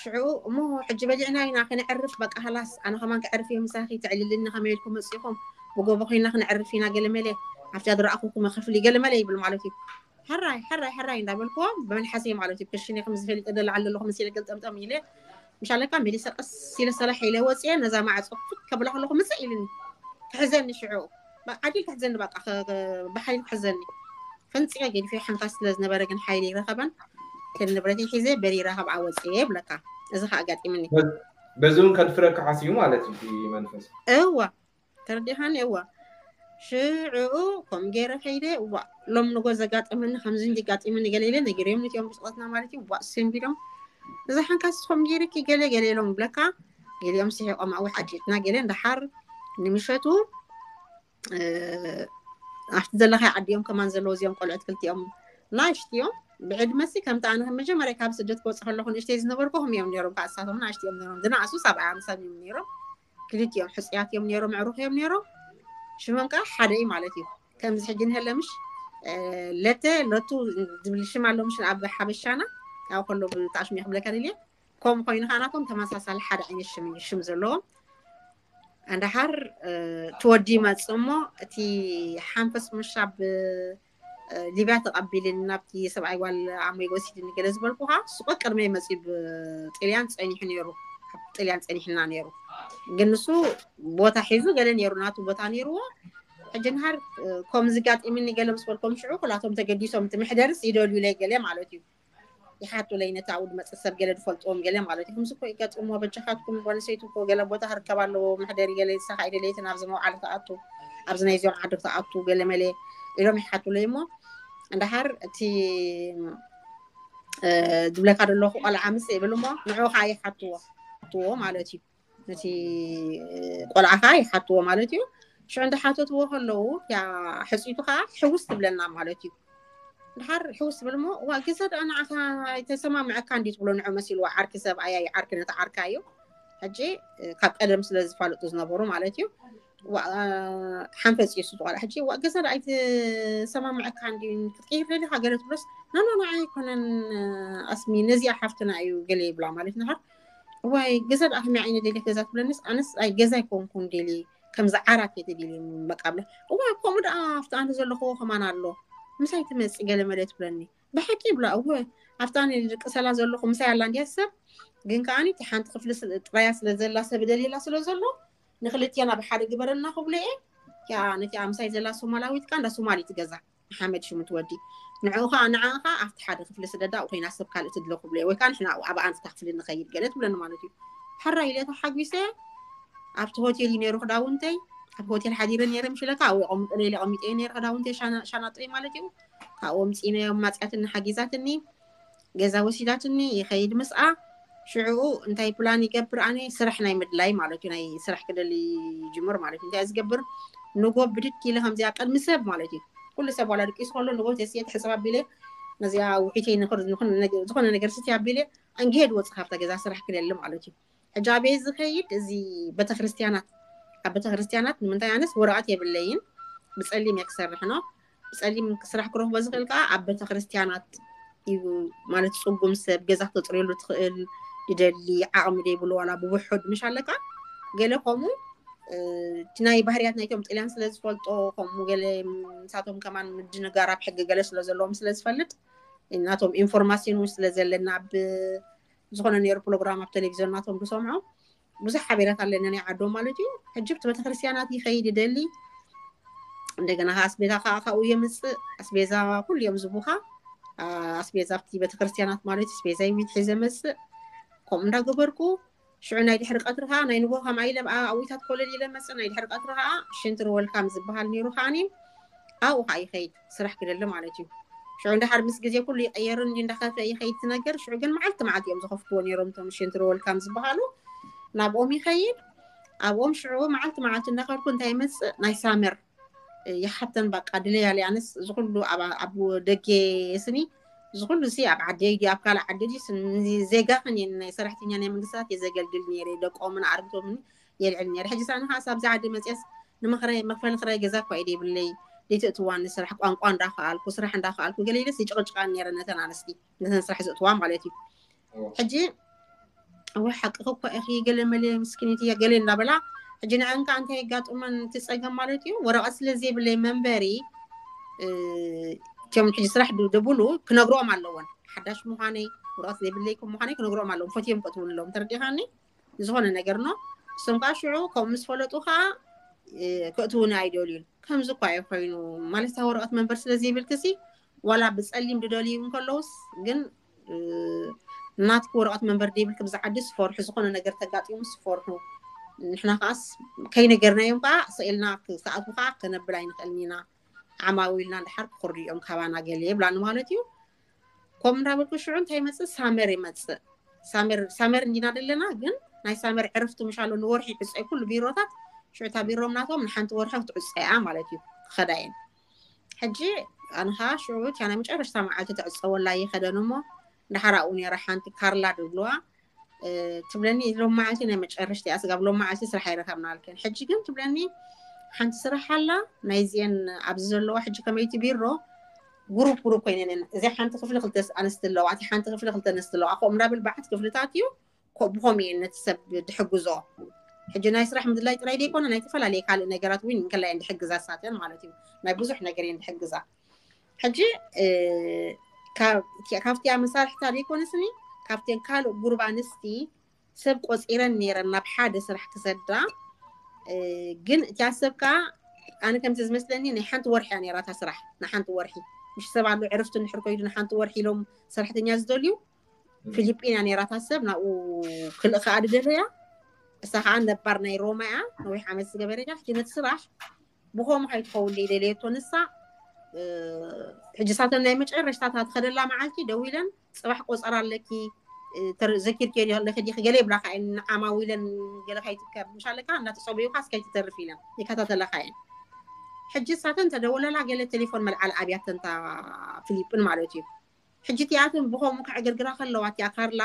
ሽዑ እሞ ሕጂ በሊዕና ኢና ክነዕርፍ በቃ ሃላስ ኣነ ከማን ክዕርፍ እየ ምሳኺ ተዕልልኒ ከመይ ኢልኩም መፂኹም ብጎቦ ኮይና ክነዕርፍ ኢና ገለመለ ኣብቲ ዝረኣኹኩም ክፍሊ ገለመለ ይብል ማለት እዩ ሕራይ ሕራይ ሕራይ እንዳበልክዎ ብመልሓሰይ ማለት እዩ ክሽነ ከም ዝፈልጥ ደላ ዓለ ኣለኹ መሲለ ገልጠምጠም ኢለ ምሻለካ መሊሰ ቀስ ኢለ ሰላሕ ኢለ ወፅየ ነዛ ማዕፆ ክፍት ከብላ ከለኹ ምፅእ ኢልኒ ክሕዘኒ ሽዑ ዓዲል ክሕዘኒ በቃ ብሓይል ክሕዘኒ ፈንፂቀ ገዲፈ ሓንካስ ስለ ዝነበረ ግን ሓይሊ ይረኸበን ከን ንብረተይ ሒዘ በሪረ ካብ ዓወፅየ ይብለካ እዚ ከዓ ኣጋጢምኒ በዚ እውን ከድፍረካ ሓሲቡ ማለት እዩ መንፈስ እዋ ተረዲኻኒ እዋ ሽዕኡ ከም ገይረ ከይደ እዋ ሎም ንጎ ዘጋጠመኒ ከምዚ እንዲጋጢመኒ ገለ ኢለ ነጊረዮም ነቲኦም ብስቆትና ማለት እዩ እዋ ሰንቢዶም እዛ ሓንካስ ከም ገይርኪ ገለ ገለ ኢሎም ብለካ ገሊኦም ስሒቆም ኣብኡ ሓቂትና ገለ እንዳሓር ንምሸቱ ኣብቲ ዘለካ ዓዲኦም ከማን ዘለዉ እዚኦም ቆልዑት ክልቲኦም ናሽት እዮም ብዕድመ ሲ ከምቲ ኣነ መጀመርያ ካብ ስደት ክወፅእ ከለኹ ንእሽተይ ዝነበርኩ ከም እዮም ነይሮም፣ ከዓ እሳቶም ንእሽተይ እዮም ነይሮም። ዝነኣሱ ሰብኣይ ኣምሳል እዮም ነይሮም። ክልቲኦም ሕፅያት እዮም ነይሮም፣ ኣዕሩኽ እዮም ነይሮም። ሽሞም ከዓ ሓደ እዩ ማለት እዩ። ከምዚ ሕጂ ንህለምሽ ለተ ለቱ ዝብል ሽም ኣሎ ምሽ ኣብ ሓበሻና። ያው ከሎ ብጣዕሽም ክብለካ ድልየ። ከምኡ ኮይኑ ከዓ ናቶም ተመሳሳሊ ሓደ ዓይነት ሽም እዩ ሽም ዘለዎም። ኣንዳሓር ትወዲ ይመፅእ እሞ እቲ ሓንፈስ ምሻብ ሊብያ ተቐቢልን ናብቲ ሰብኣይ ጓል ኣሞይ ወሲድኒ ገለ ዝበልኩኻ፣ ስቆ ቅድመ መፂ ብጥልያን ፀኒሑ ነይሩ። ኣብ ጥልያን ፀኒሕና ነይሩ። ግን ንሱ ቦታ ሒዙ ገለ ነይሩ፣ ናቱ ቦታ ነይርዎ። ሕጂ ንሃር ከምዚ ጋጢምኒ ገለ ምስ በልኮም ሽዑ ኩላቶም ተገዲሶም፣ እቲ መሕደርስ ይደልዩለይ ገለ ማለት እዩ። ይሓቱለይ ነቲ ኣብኡ ዝመፅእ ሰብ ገለ ዝፈልጥዎም ገለ ማለት እዩ። ከምዚ እኮ ይጋጥሞ በጃኻትኩም፣ ጓል ኣንስተይቲ እኮ ገለ ቦታ ክርከብ ኣለዎ፣ መሕደሪ ገለ ይሳኻ ኣይደለይትን ኣብዚ መውዓሊ ትኣቱ፣ ኣብዚ ናይ እዚኦም ዓዲ ትኣቱ ገለ መለ ኢሎም ይሓቱለይ እሞ፣ እንድሓር እቲ ዝብለካ ዘለኹ ቆልዓ ምስ ይብል እሞ ንዑ ከዓ ይሓትዎ ይሓትዎ ማለት እዩ። ነቲ ቆልዓ ከዓ ይሓትዎ ማለት እዩ። ሽዑ እንዳሓተትዎ ከለዉ ያ ሕፅይቱ ከዓ ሕውስ ትብለና ማለት እዩ። ድሓር ሕውስ ትብል እሞ ዋ ገዛ ደኣ ንዓኻ ኣይተሰማምዐካ እንዲ ትብሎ ንዑ መሲልዋ ዓርኪ ሰብኣያ እዩ ዓርኪ ነቲ ዓርካ እዩ። ሕጂ ካብ ቀደም ስለ ዝፋለጡ ዝነበሩ ማለት እዩ። ሓንፈፂ እሱ ትቆልዓ ሕጂ ዋ ገዛ ደኣ ኣይተሰማምዐካ እንዲ ክትቀይር ደሊኻ ገለ ትብሎስ ናኖ ንዓ ኣይኮነን ኣስሚ ነዚኣ ሓፍትና እዩ ገለ ይብላ ማለት ንሃር ዋይ ገዛ ደኣ ከመይ ዓይነት ደልየት ገዛ ትብለንስ ኣነስ ኣይ ገዛ ኣይኮንኩን ደሊ ከምዚ ዓራት እየ ተደልየ በቃ ብላ እዋ ከምኡ ደኣ ኣብቲ ኣነ ዘለኹዎ ከማን ኣሎ ምሳይ ትመፅእ ገለ መለ ትብለኒ ብሓቂ ይብላ እወ ኣብቲ ኣነ ዝቅሰላ ዘለኹ ምሳይ ኣላ እንድያ ሰብ ግን ከዓኒ እቲ ሓንቲ ክፍሊ ጥራያ ስለ ዘላ ሰብ ደልየላ ስለ ዘሎ ንክልትየና ብሓደ ግበረና ክብሎ እየ ያ ነቲ ምሳይ ዘላ ሶማላዊት ካ እንዳ ሶማሊት ገዛ ሓመድ ሽሙ ትወዲ ንዕኡ ከዓ ንዓ ከዓ ኣብቲ ሓደ ክፍሊ ስደዳ ኮይና ሰብ ካልእ ትድለ ክብሎ ወይ ከዓ ንሕና ኣብኣ ንስታ ክፍሊ ንኸይድ ገለ ትብለኒ ማለት እዩ ሕራ ኢለ ተሓጒሰ ኣብቲ ሆቴል እዩ ነይሩ ክዳውንተይ ኣብ ሆቴል ሓዲረ ነይረ ምሽለካ ኣብኡ የቐምጠነ ኢለ ቀሚጠ ነይረ ክዳውንተይ ሻናጦይ ማለት እዩ ካብኡ ኣምፂነ ማፅያትኒ ሓጊዛትኒ ገዛ ወሲዳትኒ ይኸይድ ምስኣ ሽዕኡ እንታይ ፕላን ይገብር ኣነ ስራሕ ናይ ምድላይ ማለት እዩ ናይ ስራሕ ክደሊ ይጅምር ማለት እዩ እንታይ ዝገብር ንጎ ብድድ ኢለ ከምዚኣ ቅድሚ ሰብ ማለት እዩ ኩሉ ሰብ ዋላ ድቂሱ ከሎ ንጎ ተስየ ትሕፅብ ኣቢለ ነዚኣ ውሒተይ ዝኾነ ነገር ስቲ ኣቢለ እንግሄድ ወፅ ካብታ ገዛ ስራሕ ክደሊ ማለት እዩ ሕጂ ኣበይ ዝኸይድ እዚ ቤተክርስትያናት ኣብ ቤተክርስትያናት ንምንታይ ኣነስ ወረቐት የብለይን ብፀሊም እየ ክሰርሕ ነው ብፀሊም ስራሕ ክረኽቦ ዝኽእል ከዓ ኣብ ቤተክርስትያናት እዩ ማለት ፅጉም ሰብ ገዛ ክተፅርየሉ ትኽእል ይደሊ ዓቕሚ ዘይብሉ ዋላ ብውሑድ ምሽ ኣለካ ገለ ከምኡ እቲ ናይ ባህርያት ናይቶም ጥልያን ስለ ዝፈልጦ ከምኡ ገለ ንሳቶም ከማን ምድንጋር ኣብ ሕጊ ገለ ስለ ዘለዎም ስለ ዝፈልጥ ናቶም ኢንፎርማሲን እውን ስለ ዘለና ብ ዝኾነ ነይሩ ፕሮግራም ኣብ ቴሌቪዝዮን ናቶም ዝሰምዖ ብዙሕ ሓቤራት ኣለና ናይ ዓዶም ማለት እዩ ሕጂ ብቲ ቤተክርስትያናት ይኸይድ ይደሊ እንደገና ኣስቤዛ ከዓ ካብኡ የምፅእ ኣስቤዛ ኩሉ እዮም ዝቡኻ ኣስቤዛ ኣብቲ ቤተክርስትያናት ማለት ኣስቤዛ ይሚድ ሒዘ መፅእ ከምኡ እንዳገበርኩ ሽዑ ናይ ድሕሪ ቀትሪ ከዓ ናይ ንጎ ከም ኣይለ ኣብታት ኮለል ኢለ መፅእ ናይ ድሕሪ ቀትሪ ከዓ ሽንትሪ ወልካም ዝበሃል ነይሩ ከዓኒ ኣብኡ ከዓ ይኸይድ ስራሕ ክደሊ ማለት እዩ ሽዑ እንዳሓር ምስ ግዜ ኩሉ ይቀየሩ እንዲ እንዳኸፍአ ይኸይድ ትነገር ሽዑ ግን መዓልቲ መዓልቲ እዮም ዝኸፍትዎ ነይሮም እቶም ሽንትሪ ወልካም ዝበሃሉ ናብኦም ይኸይድ ኣብኦም ሽዑ መዓልቲ መዓልቲ እንዳኸድኩ እንታይ ይመፅእ ናይ ሳመር ይሓተን በቃ ድለያ ኣነስ ዝኩሉ ኣብ ደገ ስኒ ዝኩሉ ሲ ኣብ ዓደይ ድዩ ኣብ ካልእ ዓዲ ድዩ ዜጋ ከን ናይ ሰራሕተኛ ናይ መንግስታት የዘገልግል ነይረ ደቆምን ኣርግቶምን የልዕል ነይረ ሕጂ ሳኒ ከዓ ኣብዚ ዓዲ መፅያስ ንምኽራይ መክፈሊ ክራይ ገዛ እኳ ኢደ ይብለይ ዘይትእትዋኒ ስራሕ ቋንቋ እንዳኸኣልኩ ስራሕ እንዳኸኣልኩ ገለ ኢለስ ይጭቕጭቃን ነይረ ነተን ኣንስቲ ነተን ስራሕ ዘእትዋ ማለት እዩ ሕጂ እወ ሓቅኺ እኮ ኢኺ ገለ መለ ምስኪኒት እያ ገለ እንዳበላ ሕጂ ንዐን ከዓ እንታይ የጋጥመን እቲ ፀገም ማለት እዩ ወረቐት ስለ ዘይብለይ መንበሪ እቲኦም ሕጂ ስራሕ ደብሉ ክነግሮም ኣለዎን ሓዳሽ ምዃነይ ወረቐት ዘይብለይ ከም ምዃነይ ክነግሮም ኣለዎም ፈትዮም ከእትውኒ ኣለዎም ተረዲኻኒ ዝኾነ ነገር ኖ እሶም ከዓ ሽዑ ከምኡ ምስ ፈለጡ ከዓ ክእትውኒ ኣይደልዩን ከምዚ እኳ እዩ ኮይኑ ማለት ወረቐት መንበር ስለ ዘይብልክሲ ዋላ ብፀሊም ድደልዩ እንከለውስ ግን ናትኪ ወረቐት መንበር ደይብልኪ ብዛ ዓዲ ስፈርሑ ዝኾነ ነገር ተጋጢሙ ስፈርሑ ንሕና ከዓስ ከይነገርናዮም ከዓ ስኢልና ክሰኣቱ ከዓ ከነብል ኣይንኽእልን ኢና ዓማዊ ኢልና እንድሓር ክኽርድኦም ካባና ገለ ይብላኒ ማለት እዩ ከምኡ እንዳበልኩ ሽዑ እንታይ ይመፅእ ሳመር ይመፅእ ሳመር እንዲና ዘለና ግን ናይ ሳመር ዕርፍቲ ምሻሎ ንወርሒ ይዕፀይ ኩሉ ቢሮታት ሽዑታ ቢሮም ናቶም ንሓንቲ ወርሒ ክትዕፀያ ማለት እዩ ክኸዳየን ሕጂ ኣነ ከዓ ሽዑ እቲያ ናይ መጨረሽታ መዓልቲ ተዕፀወላ ይኸደን እሞ፣ ድሓር ኣብኡ ነይራ ሓንቲ ካርላ ድብልዋ ትብለኒ፣ ሎም መዓልቲ ናይ መጨረሽቲ እያ፣ ስጋብ ሎም መዓልቲ ስራሕ ኣይረከብና ኣልከን። ሕጂ ግን ትብለኒ ሓንቲ ስራሕ ኣላ፣ ናይዚአን ኣብዚ ዘለዋ ሕጂ ከመይቲ ቢሮ ጉሩፕ ጉሩፕ ኮይነን እዚኣ ሓንቲ ክፍሊ ክልተ ኣንስቲ ኣለዋ፣ እቲ ሓንቲ ክፍሊ ክልተ ኣንስቲ ኣለዋ፣ ከምኡ እንዳብል በዓት ክፍልታት እዩ። ብኸምኡ እየን ነቲ ሰብ ድሕግዞ። ሕጂ ናይ ስራሕ ምድላይ ጥራይ ዘይኮነ ናይ ተፈላለየ ካልእ ነገራት እውን እንከላይ ድሕግዛ ሳተን ማለት እዩ። ናይ ብዙሕ ነገር እየን ድሕግዛ። ሕጂ ካብቲ መሳርሕታ ዘይኮነስኒ ካብተን ካልእ ጉሩብ ኣንስቲ ሰብ ቆፂረን ነይረን ናብ ሓደ ስራሕ ክሰዳ። ግን እቲያ ሰብ ከዓ ኣነ ከምዚ ዝመስለኒ ናይ ሓንቲ ወርሒ እያ ነይራ እታ ስራሕ። ንሓንቲ ወርሒ ምሽ ሰብ ኣሎ ዕርፍቲ እንድሕር ኮይዱ ንሓንቲ ወርሒ ኢሎም ሰራሕተኛ ዝደልዩ ፊሊጲን እያ ነይራ እታ ሰብ ናብኡ ክልእ ከዓ ድደለያ። እሳ ከዓ ነባር ናይ ሮማ እያ ነዊሕ ዓመት ዝገበረ እያ። ሕጂ ነቲ ስራሕ ብኸምኡ ከይትኸውን ደይደለየቶ ንሳ። ሕጂ ሳተን ናይ መጨረሽታ እታ ትኸደላ መዓልቲ ደዊለን ፅባሕ ቆፀራ ኣለኪ ዘኪርክዮ ኣለኪ ዲኪ ገለ ይብላካ እየን። ንዓማዊለን ገለ ከይትከብ ምሽ ኣለካ እናተፀበዩካ እስከይትተርፍ ኢለን ይከታተለካ እየን። ሕጂ ሳተን ተደወለላ ገለ ቴሌፎን መልዓል ኣብያተንታ ፊሊጲን ማለት እዩ። ሕጂ እቲኣተን ብኸምኡ ከዕግርግራ ከለዋ እቲኣ ካርላ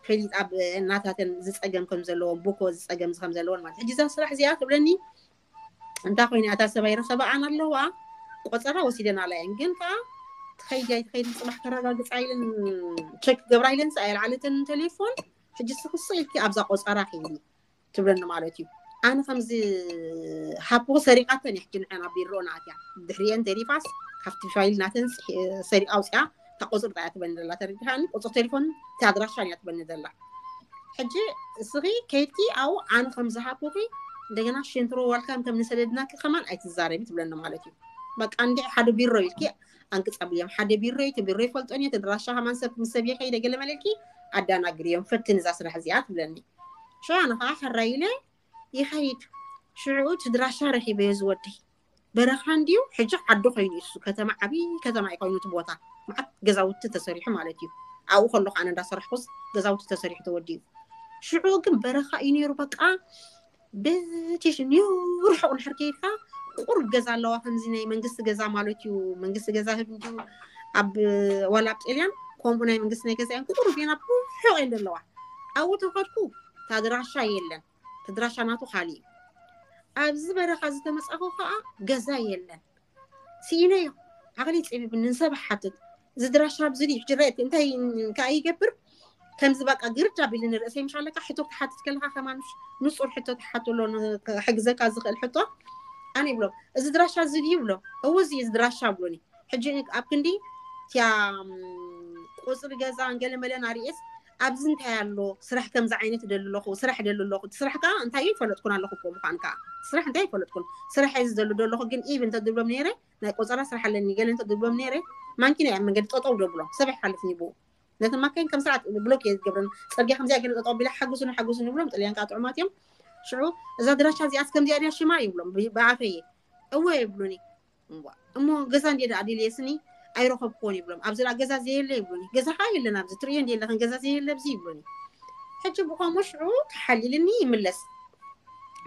ፈሊጣ እናታተን ዝፀገም ከም ዘለዎን ብኮ ዝፀገም ከም ዘለዎን ማለት ሕጂ እዛ ስራሕ እዚኣ ትብለኒ እንታይ ኮይነ እታ ሰብኣይ ረኸበኣን ኣለዋ። ቆፀራ ወሲደን ኣለየን ግን ከዓ ትኸይድ ኣይትኸይድ ፅባሕ ከረጋግፃ ኢለን ቸክ ገብራ ኢለን ሳ የልዓለተን ቴሌፎን። ሕጂ ስክስቕ ኢልኪ ኣብዛ ቆፀራ ከይዲ ትብለኒ ማለት እዩ። ኣነ ከምዚ ሃብኩ ሰሪቃተን እያ ሕጂ ንዐን ኣብ ቢሮ ናትያ ድሕሪአን ተሪፋስ ካብቲ ፋይል ናተን ሰሪቃ ኣውፅያ እታ ቁፅሪ እያ ትበኒ ዘላ ተረዲኻኒ። ቁፅሪ ቴሌፎን እቲ ኣድራሻን እያ ትበኒ ዘላ። ሕጂ እስኺ ከይድኪ ኣብኡ ኣነ ከም ዝሃብኩኺ እንደገና ሸንትሮ ዋልካን ከም ንሰደድናኪ ከማን ኣይትዛረቢ ትብለኒ ማለት እዩ። በቃ እንዲ ሓደ ቢሮ ኢልኪ ኣንቅፀብዮም ሓደ ቢሮ እዩ። እቲ ቢሮ ይፈልጦን እየ። ተድራሻ ከማን ሰብ ምስ ሰብ የኸይደ ገለ መለልኪ ኣዳናግርዮም ፈትን እዛ ስራሕ እዚኣ ትብለኒ። ሽዑ ኣነ ከዓ ሕራይ ኢለ ይኸይድ። ሽዑ እቲ ድራሻ ረኺበዮ ዝወደይ በረኻ እንድዩ ሕጂ ዓዲ ኮይኑ እሱ ከተማ ዓብዪ ከተማ እዩ ኮይኑ እቲ ቦታ መዓት ገዛውቲ ተሰሪሑ ማለት እዩ። ኣብኡ ከለኹ ኣነ እንዳሰራሕኩስ ገዛውቲ ተሰሪሑ ተወዲኡ። ሽዑ ግን በረኻ እዩ ነይሩ በቃ በቲሽ ርሑቕ ንሕር ከይድካ ቁሩብ ገዛ ኣለዋ ከምዚ ናይ መንግስቲ ገዛ ማለት እዩ። መንግስቲ ገዛ ህብ እንድዩ ኣብ ዋላ ኣብ ጤልያን ከምኡ ናይ መንግስቲ ናይ ገዛ እየን ቁሩብ እየን ኣብ ርሑቕ እየን ዘለዋ። ኣብኡ ተኸድኩ ታድራሻ የለን። ተድራሻ ናቱ ካሊእ እዩ። ኣብዚ በረኻ ዝተመፃኹ ከዓ ገዛ የለን። ስኢነዮ ዓቕሊ ፀቢብኒ ንሰብ ሓትት እዚ ድራሻ ኣብዚ ድዩ ሕጂ ረእቲ እንታይ ከዓ ይገብር ከምዚ በቃ ግርድ ኣቢልኒ ርእሰይ ምሽ ኣለካ ሕቶ ክትሓትት ከለካ ከማን ንፁር ሕቶ ትሓትሎ ሕግዘካ ዝኽእል ሕቶ ኣነ ይብሎም እዚ ድራሻ እዚ ድዩ ይብሎም እዎ እዚ እዚ ድራሻ ብሎኒ ሕጂ ኣብ ክንዲ እቲያ ቁፅሪ ገዛ ገለመለን ኣርእስ ኣብዚ እንታይ ኣሎ ስራሕ ከምዚ ዓይነት ደሊ ኣለኹ ስራሕ ደሊ ኣለኹ እቲ ስራሕ ከዓ እንታይ ይፈለጥኩን ኣለኹ እኮ ምኳን ከዓ ስራሕ እንታይ ይፈለጥኩን ስራሕ እዚ ዘሎ ደለኹ ግን ኢብ እንተ ድብሎም ነይረ ናይ ቆፀራ ስራሕ ኣለኒ ገለ እንተ ድብሎም ነይረ ማንኪና እያ መንገዲ ጠጠው ደብሎም ሰብ ኣይሓልፍን ይብኡ ነቲ ማካይን ከም ስርዓት ብሎክ እየ ዝገብረን ፅርግያ ከምዚኣ ገለ ጠጠው ቢላ ሓግዙኒ ሓግዙኒ ይብሎም ጥልያን ከዓ ጥዑማት እዮም ሽዑ እዛ ድራሻ እዚኣስ ከምዚኣ ድያ ሽማ ይብሎም ብኣፈየ እወ ይብሉኒ እሞ ገዛ እንዴ ደኣ ድልየ ስኒ ኣይረኸብክዎን ይብሎም ኣብዚ ደኣ ገዛ ዘየለ ይብሉኒ ገዛ ከዓ የለን ኣብዚ ትርእዮ እንዴ ኣለኽን ገዛ ዘየለ ኣብዚ ይብሉኒ ሕጂ ብኸምኡ ሽዑ ተሓሊልኒ ይምለስ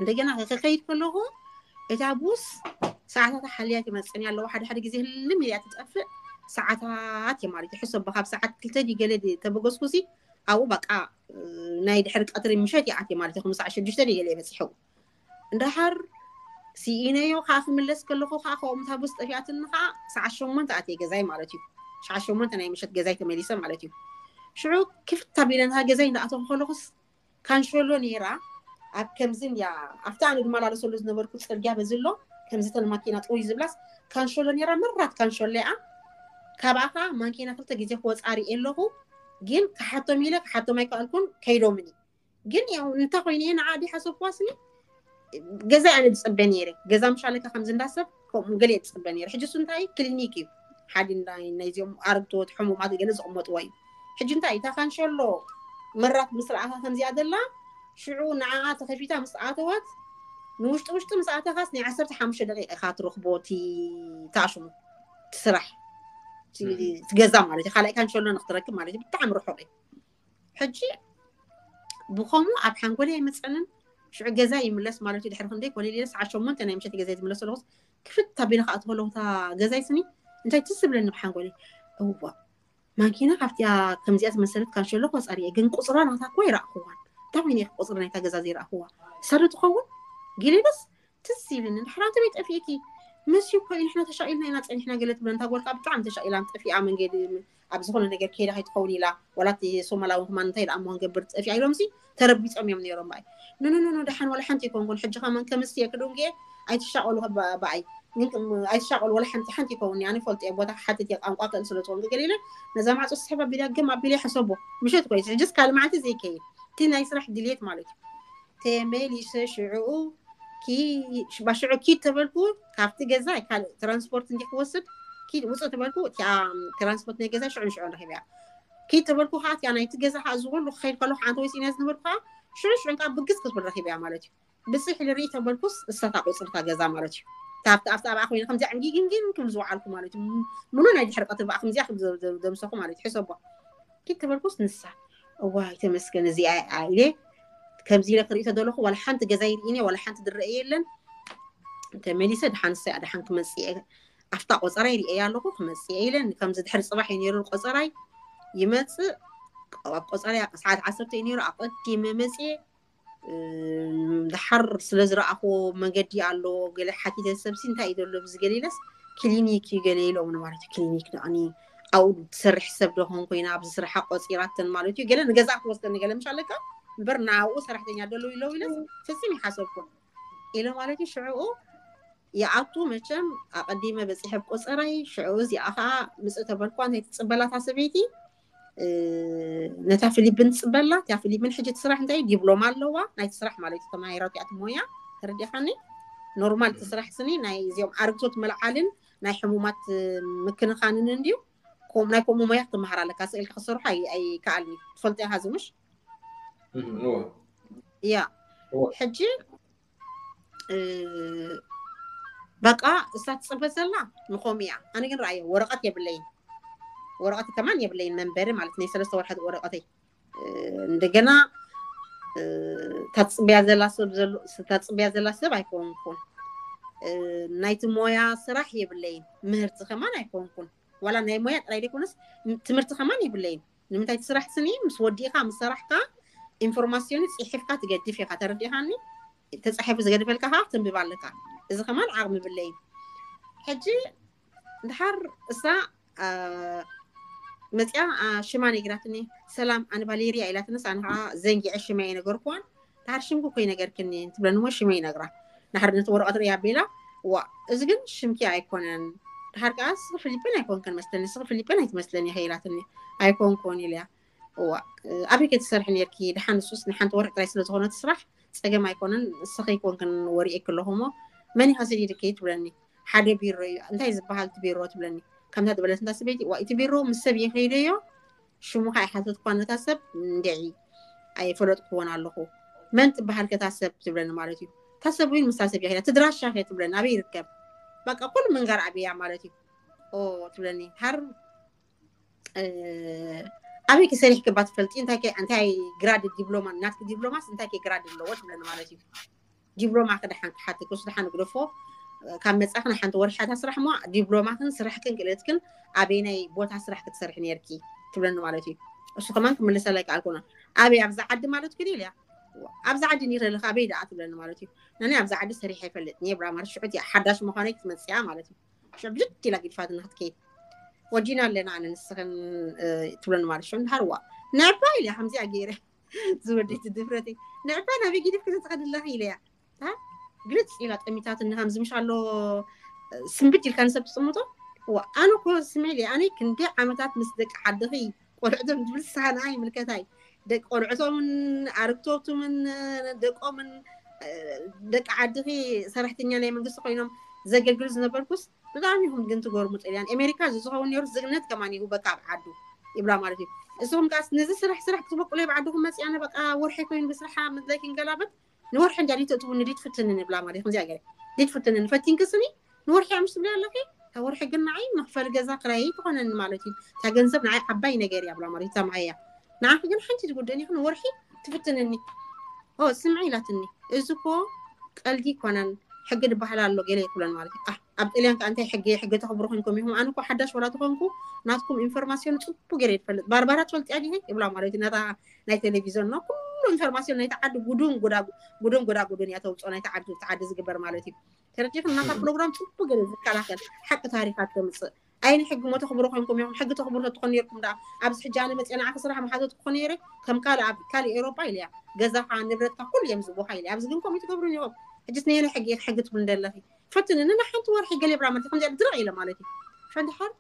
እንደገና ክኸይድ ከለኹ እታ ቡስ ሰዓታት ሓልያ ትመፅኒ ኣለዋ ሓደ ሓደ ግዜ ህልም ኢልያ ትጠፍእ ሰዓታት እየ ማለት ሕሰቦ ካብ ሰዓት ክልተ ድዩ ገለ ተበገስኩሲ ኣብኡ በቃ ናይ ድሕሪ ቀትሪ ምሸት ይኣትየ ማለት እዩ ክምሳዕ ሽዱሽተ ድዩ ገለ በፂሑ እንድሓር ስኢነዮ ከዓ ክምለስ ከለኹ ከዓ ከምኡ እታ ቡስ ጠፊኣትኒ ከዓ ሰዓት ሸሞንተ ኣትየ ገዛይ ማለት እዩ። ሰዓት ሸሞንተ ናይ ምሸት ገዛይ ተመሊሰ ማለት እዩ። ሽዑ ክፍት ኣቢለ ነታ ገዛይ እንዳኣተኹ ከለኹስ ካንሸሎ ነይራ ኣብ ከምዚ እንድያ ኣብታ ኣነ ዝመላለሰሉ ዝነበርኩ ፅርግያ በዚ ኣሎ ከምዚ ተን ማኪና ጥውይ ዝብላስ ካንሸሎ ነይራ መራት ካንሸሎ እያ። ካብኣ ከዓ ማኪና ክልተ ግዜ ክወፃ ርእየ ኣለኹ ግን ክሓቶም ኢለ ክሓቶም ኣይከኣልኩን ከይዶምኒ ግን ያው እንታይ ኮይኑ እየ ንዓ ድሓሰብኩዋ ስኒ ገዛ ኣነ ዝፅበ ነይረ ገዛ ምሻለካ ከምዚ እንዳሰብ ከምኡ ገለ ዝፅበ ነይረ ሕጂ እሱ እንታይ ክሊኒክ እዩ ሓደ ናይዚኦም ኣረግቶት ሕሙማት ገለ ዝቕመጥዎ እዩ ሕጂ እንታይ እታ ካንሸሎ መራት ምስ ረኣኻ ከምዚኣ ዘላ ሽዑ ንዓኣ ተኸፊታ ምስ ኣተወት ንውሽጢ ውሽጢ ምስ ኣተኻስ ናይ ዓሰርተ ሓሙሽተ ደቂቃ ኢኻ ትረኽቦ እቲ ታሽሙ ትስራሕ ትገዛ ማለት እዩ ካልኣይ ካንሸሎ ንክትረክብ ማለት እዩ ብጣዕሚ ርሑቕ እዩ ሕጂ ብኸምኡ ኣብ ሓንጎለይ ኣይመፀንን ሽዑ ገዛ ይምለስ ማለት እዩ ድሕሪ ክንደይ ኮነ ኢለ ሰዓት ሸሞንተ ናይ ምሸት ገዛ ዝምለስ ኣለኹስ ክፍት ኣቢለ ከዓ ትኸለኹ እታ ገዛይ ስኒ እንታይ ትዝ ዝብለኒ ብሓንጎለይ፣ እዋ ማኪና ካብቲኣ ከምዚኣ ዝመሰለት ካንሸሎ ቆፀር እየ፣ ግን ቁፅራ ናታ እኮ ይረእኽዋን። እንታይ ኮይኑ ኢኺ ቁፅሪ ናይታ ገዛ ዘይረእኽዋ? ሰሪ ትኸውን ገለ ኢለስ ትዝ ኢልኒ። ድሕራ እንተ ቤት ጠፊእኪ፣ ምስ እኮ እዩ ንሕና ተሻኢልና ኢና ፀኒሕና ገለ ትብለን። እታ ጓል ከዓ ብጣዕሚ ተሻኢላ ጠፊኣ መንገዲ ኣብ ዝኾነ ነገር ከይዳ ከይትኸውን ኢላ፣ ዋላ እቲ ሶማላዊ ከማን እንታይ ደኣ እሞ ክንገብር ጠፊኣ ኢሎም ሲ ተረቢጾም እዮም ነይሮም። ብኣይ ኖ ኖ ኖ ኖ፣ ደሓን ዋላ ሓንቲ ይኮንኩን። ሕጂ ከማን ከምስቲ እየ ክድንጉ እየ፣ ኣይትሻቐሉ። ከባ- ብኣይ ግን ከም- ኣይትሻቐሉ፣ ዋላ ሓንቲ ሓንቲ ይከውን። ኣነ ፈልጥ እየ ቦታ ክሓትት እየ፣ ቋንቋ ክእል ስለ ዝኾንኩ ገለ ኢለ ነዛ ማዕጾ ስሕብ ኣቢለ ገም ኣቢለ ይሕሰቦ። ምሸት ኮይስ ሕጅስ ካልእ መዓልቲ ዘይከይድ፣ እቲ ናይ ስራሕ ድልየት ማለት እዩ። ተመሊሰ ሽዕኡ ኪ- ሽባ ሽዑ ኪድ ተበልኩ። ካብቲ ገዛ ካልእ ትራንስፖርት እንዲ ክወስድ ኪድ ውፅእ ተበልኩ። እቲኣ ትራንስፖርት ናይ ገዛ ሽዑ ሽዑ ንረኺብ እያ። ኪድ ተበልኩ ከዓ እቲኣ ናይቲ ገዛ ከዓ እዚ ኩሉ ክኸይድ ከለኩ ሓንቲ ወይ ስኢነ ዝነበርኩ ከዓ ሽዑ ሽዑ ከዓ ብግስ ክትብል ረኺብ እያ ማለት እዩ። ብፅሕ ልርኢ ተበልኩስ እሳታ ቁፅርታ ገዛ ማለት እዩ። ካብቲ ኣብቲ ኣብኣ ኮይነ ከምዚ ዕንጊግንጊን ክብል ዝወዓልኩ ማለት እዩ። ምሉ ናይ ድሕሪ ቀትሪ ብኣ ከምዚኣ ክብል ዘ- ዘ- ዘምሰኹ ማለት እዩ። ሕሰቦ ኪድ ተበልኩስ ንሳ እዋይ ተመስገን እዚኣ እያ ኢለ ከምዚ ኢለ ክርኢ ተደለኹ ዋላ ሓንቲ ገዛ ይርኢኒ ዋላ ሓንቲ ድረአ የለን። ተመሊሰ ድሓን ሰ ድሓን ክመፅእ እየ። ኣብታ ቆፀራይ ሪኤያ ኣለኹ ክመፅእ እየ ኢለ ከምዚ ድሕሪ ፅባሕ እዩ ነይሩ ቆፀራይ ይመፅእ። ኣብ ቆፀራይ ሰዓት ዓሰርተ እዩ ነይሩ ኣቐዲመ መፅየ። እም፣ ድሓር ስለ ዝረኣኽዎ መገዲ ኣሎ ገለ ሓቲተ ሰብሲ እንታይ እዩ ዘሎ ብዝገለ ኢለስ ክሊኒክ እዩ ገለ ኢሎምኒ ማለት እዩ። ክሊኒክ ደኣኒ ኣብኡ ትሰርሕ ሰብ ዶ ኾን ኮይና ኣብዚ ስራሓ ቆፂራተን ማለት እዩ። ገለ ንገዛ ክወስደኒ ገለ ምሽ ኣለካ እምበር ናብኡ ሰራሕተኛ ደሎ ኢለው ኢለስ ፍጹም ይሓሰብኩ ኢለ ማለት እዩ። ሽዕኡ ይኣቱ መቸም ኣቐዲመ በፂሐ ኣብ ቆፀራይ ሽዕኡ እዚኣ ከዓ ምፅእ ተበልኳ እንታይ ትፅበላታ ሰበይቲ ነታ ፊሊፕን ትፅበላ። እቲያ ፊሊፕን ሕጂ ትስራሕ እንታይ ዲፕሎማ ኣለዋ ናይቲ ስራሕ ማለት እዩ። ተማሂራቱ እያ ትሞያ ተረዲኻኒ። ኖርማል ትስራሕ ስኒ ናይ እዚኦም ኣርግቶት መልዓልን ናይ ሕሙማት ምክንኻንን እንድዩ። ከም- ናይ ከምኡ ሞያ ክትመሃር ኣለካ። ስእልካ ክሰርሑ ኣይ- ኣይከኣልኒ ትፈልጦ ኢኻ ዝምሽ እዋ። ያ እዋ። ሕጂ እ፣ በቃ እሳ ትፅበ ዘላ ንኸምኡ እያ። ኣነ ግን ረኣየ ወረቐት የብለይን፣ ወረቐት ከማን የብለይን መንበሪ ማለት ናይ ሰለስተ ወርሓት ወረቐተይ እ፣ እንደገና እ፣ ታፅብያ ዘላ ሰብ ዘሎ ታፅብያ ዘላ ሰብ ኣይኮንኩን። እ፣ ናይቲ ሞያ ስራሕ የብለይን፣ ምህርቲ ከማን ኣይኮንኩን። ዋላ ናይ ሞያ ጥራይ ዘይኮነስ ትምህርቲ ከማን የብለይን። ንምንታይ ትስራሕ ስኒ ምስ ወዲእካ ምስ ሰራሕካ ኢንፎርማሲዮን ፅሒፍካ ትገድፍ ኢኻ። ተረዲኻኒ? ተፃሒፉ ዝገድፈልካ ከዓ ትንብብ ኣለካ። እዚ ከማን ዓቕሚ ብለይን። ሕጂ ድሓር እሳ አ፣ መፅያ አ፣ ሽማ ነግራትኒ። ሰላም ኣነ ቫሌርያ ኢላትንስ ኣነ ከዓ ዘንጊዐ ሽመ የነገርኩዋን። ድሓር ሽምኩ እኮ ይነገርክኒ ትብለኒ እሞ ሽመ ይነግራ። ድሓር ነቲ ወረቐት ርእያ ኣቢላ ዋ እዚ ግን ሽምኪ ኣይኮነን። ድሓር ከዓ ስኺ ፊሊፒን ኣይኮንክን መስለኒ ስኺ ፊሊፒን ኣይትመስለኒ ኢኺ ኢላትኒ። ኣይኮንኩን ኢለያ። እዋ ኣበይ ከይትሰርሒ ነርኪ? ድሓን ንሱስ ንሓንቲ ወርሒ ጥራይ ስለ ዝኾነት ስራሕ ፀገም ኣይኮነን። ንስኺ ኣይኮንክን ወሪኤኪ ኣለኹ እሞ መን ኢኻ ሰዲድኪ ትብለኒ። ሓደ ቢሮ እዩ እንታይ ዝበሃል እቲ ቢሮ ትብለኒ። ከምታ ዝበለት እንዳ ሰበይቲ ዋ እቲ ቢሮ ምስ ሰብ የኸይደዮ ሽሙ ከዓ ይሓተትኳ ነታ ሰብ እንድዒ ኣይፈለጥኩዎን ኣለኹ። መን ትበሃል ከታ ሰብ ትብለኒ ማለት እዩ። እታ ሰብ እውን ምስታ ሰብ የኸይዳ ትድራሻ ከ ትብለኒ ኣበይ ይርከብ? በቃ ኩሉ ምንጋር ኣብያ ማለት እዩ። ኦ ትብለኒ ሃር ኣበይ ክሰሪሕ ክባ ትፈልጢ እንታይ እንታይ ግራድ ዲፕሎማ ናትኪ ዲፕሎማስ እንታይ ግራድ ኣለዎ ትብለኒ ማለት እዩ። ዲፕሎማ ክደሓን ክሓትክ እሱ ደሓን ግደፎ። ካብ መፃኽን ሓንቲ ወርሓታ ስራሕ ሞ ዲፕሎማክን ስራሕክን ክእለትክን ኣበይናይ ቦታ ስራሕ ክትሰርሒ ነርኪ ትብለኒ ማለት እዩ። እሱ ከማን ክምልሰለይ ከኣልኩና ኣበይ ኣብዛ ዓዲ ማለት ክዲ ኢልያ ኣብዛ ዓዲ ኒረልካ ኣበይ ደኣ ትብለኒ ማለት እዩ። ነኒ ኣብዛ ዓዲ ሰሪሐ ይፈልጥ ኒ ብራ ማለት ሽዑት እያ ሓዳሽ ምዃነይ ክትመፅያ ማለት እዩ። ሽዑ ብድድ ኢላ ግድፋትና ክትከይድ ወጂና ኣለና ኣነ ንስኽን ትብለኒ ማለት ሽዑ እንድሃር ዋ ንዕባ ኢለ ከምዚኣ ገይረ ዝወደይቲ ድፍረተይ ንዕባ ናበይ ጊድፍ ክትትኸድ ኣለኺ ኢለያ ግልፅ ኢላ ጠሚታት እንሃም ዝምሽ ኣሎ ስንብድ ኢልካ ንሰብ ትፅምቶ ኣነ ኮ ስሜል ኣነ ክንደ ዓመታት ምስ ደቂ ዓድኺ ቆልዕቶም ዝብል ሳና ይምልከታይ ደቂ ቆልዕቶምን ኣርግቶቱምን ደቆምን ደቂ ዓድኺ ሰራሕተኛ ናይ መንግስቲ ኮይኖም ዘገልግሉ ዝነበርኩስ ብጣዕሚ ኢኹም ግን ትገርሙ ጥልያን ኣሜሪካ ዝዝኸውን ነሩ ዝግነት ከማን ይህበካ ኣብ ዓዱ ይብላ ማለት እዩ። እስኹም ከዓስ ነዚ ስራሕ ስራሕ ክትበቁሎ ኣብ ዓድኹም መፅያነ በቃ ወርሒ ኮይኑ ብስራሓ ምድላይ ክንገላበት ንወርሒ እንጃ ዲተእትውኒ ዲትፍትንኒ ይብላ ማለት ከምዚኣ ገለ ዲትፍትንኒ ፈቲንክስኒ ንወርሒ እያ ምሽ ትብሊ ኣለኺ እታ ወርሒ ግን ንዓይ መኽፈሊ ገዛ ክራይ ትኾነኒ ማለት እዩ። እታ ገንዘብ ንዓይ ዓባይ ነገር እያ ብላ ማለት እታ መሃያ ንዓኺ ግን ሓንቲ ትጉደኒ ኢኺ ንወርሒ ትፍትንኒ። ኦ ስምዒ ኢላትኒ እዚ እኮ ቀልዲ ይኮነን ሕጊ ዝበሃል ኣሎ ገለ ይትብለን ማለት እዩ። ኣብ ጥልያን ከ እንታይ ሕጊ ሕጊ ተኽብሩ ኮንኩም ኢኹም? ኣነ እኮ ሓዳሽ ወላ ተኾንኩ ናትኩም ኢንፎርማሲዮን ጽቡቅ ገይረ ይፈልጥ። ባርባራ ትፈልጥያ ዲኺ ይብላ ማለት እዩ። ነታ ናይ ቴሌቪዝዮን ነው ኩሉ ኢንፎርማሲዮን ናይቲ ዓዲ ጉዱን ጎዳጉ ጉዱን ጎዳጉዱን እያ ተውፅኦ ናይቲ ዓዲ እቲ ዓዲ ዝግበር ማለት እዩ። ተረዲኹም? ናታ ፕሮግራም ጽቡቅ ገይረ ዝከላኸል ሓቂ ታሪኻት ተምፅእ። ኣይነ ሕጊ ሞ ተኽብሩ ኮንኩም ኢኹም? ሕጊ ተኽብሩ ተትኾኑ ነርኩም ደኣ ኣብዚ ሕጂ ኣነ መፅአ ንዓኺ ስራሕ መሓዘት ክኾነ ነይረ ከም ካልእ ኣብ ካልእ ኤውሮጳ ኢለያ ገዛኻ ንብረትካ ኩሉ እዮም ዝቦኻ ኢለያ። ኣብዚ ግን ከምኡ ትገብሩን ኢኹም። ሕጅስ ነየነ ሕጊ ኢኺ ሕጊ ትብሉ እንደለኺ? ፈትንኒ ንሓንቲ ወርሒ ገለ ብራ ማለት ከምዚኣ ድርቕ ኢለ ማለት እዩ። ፈንድሓር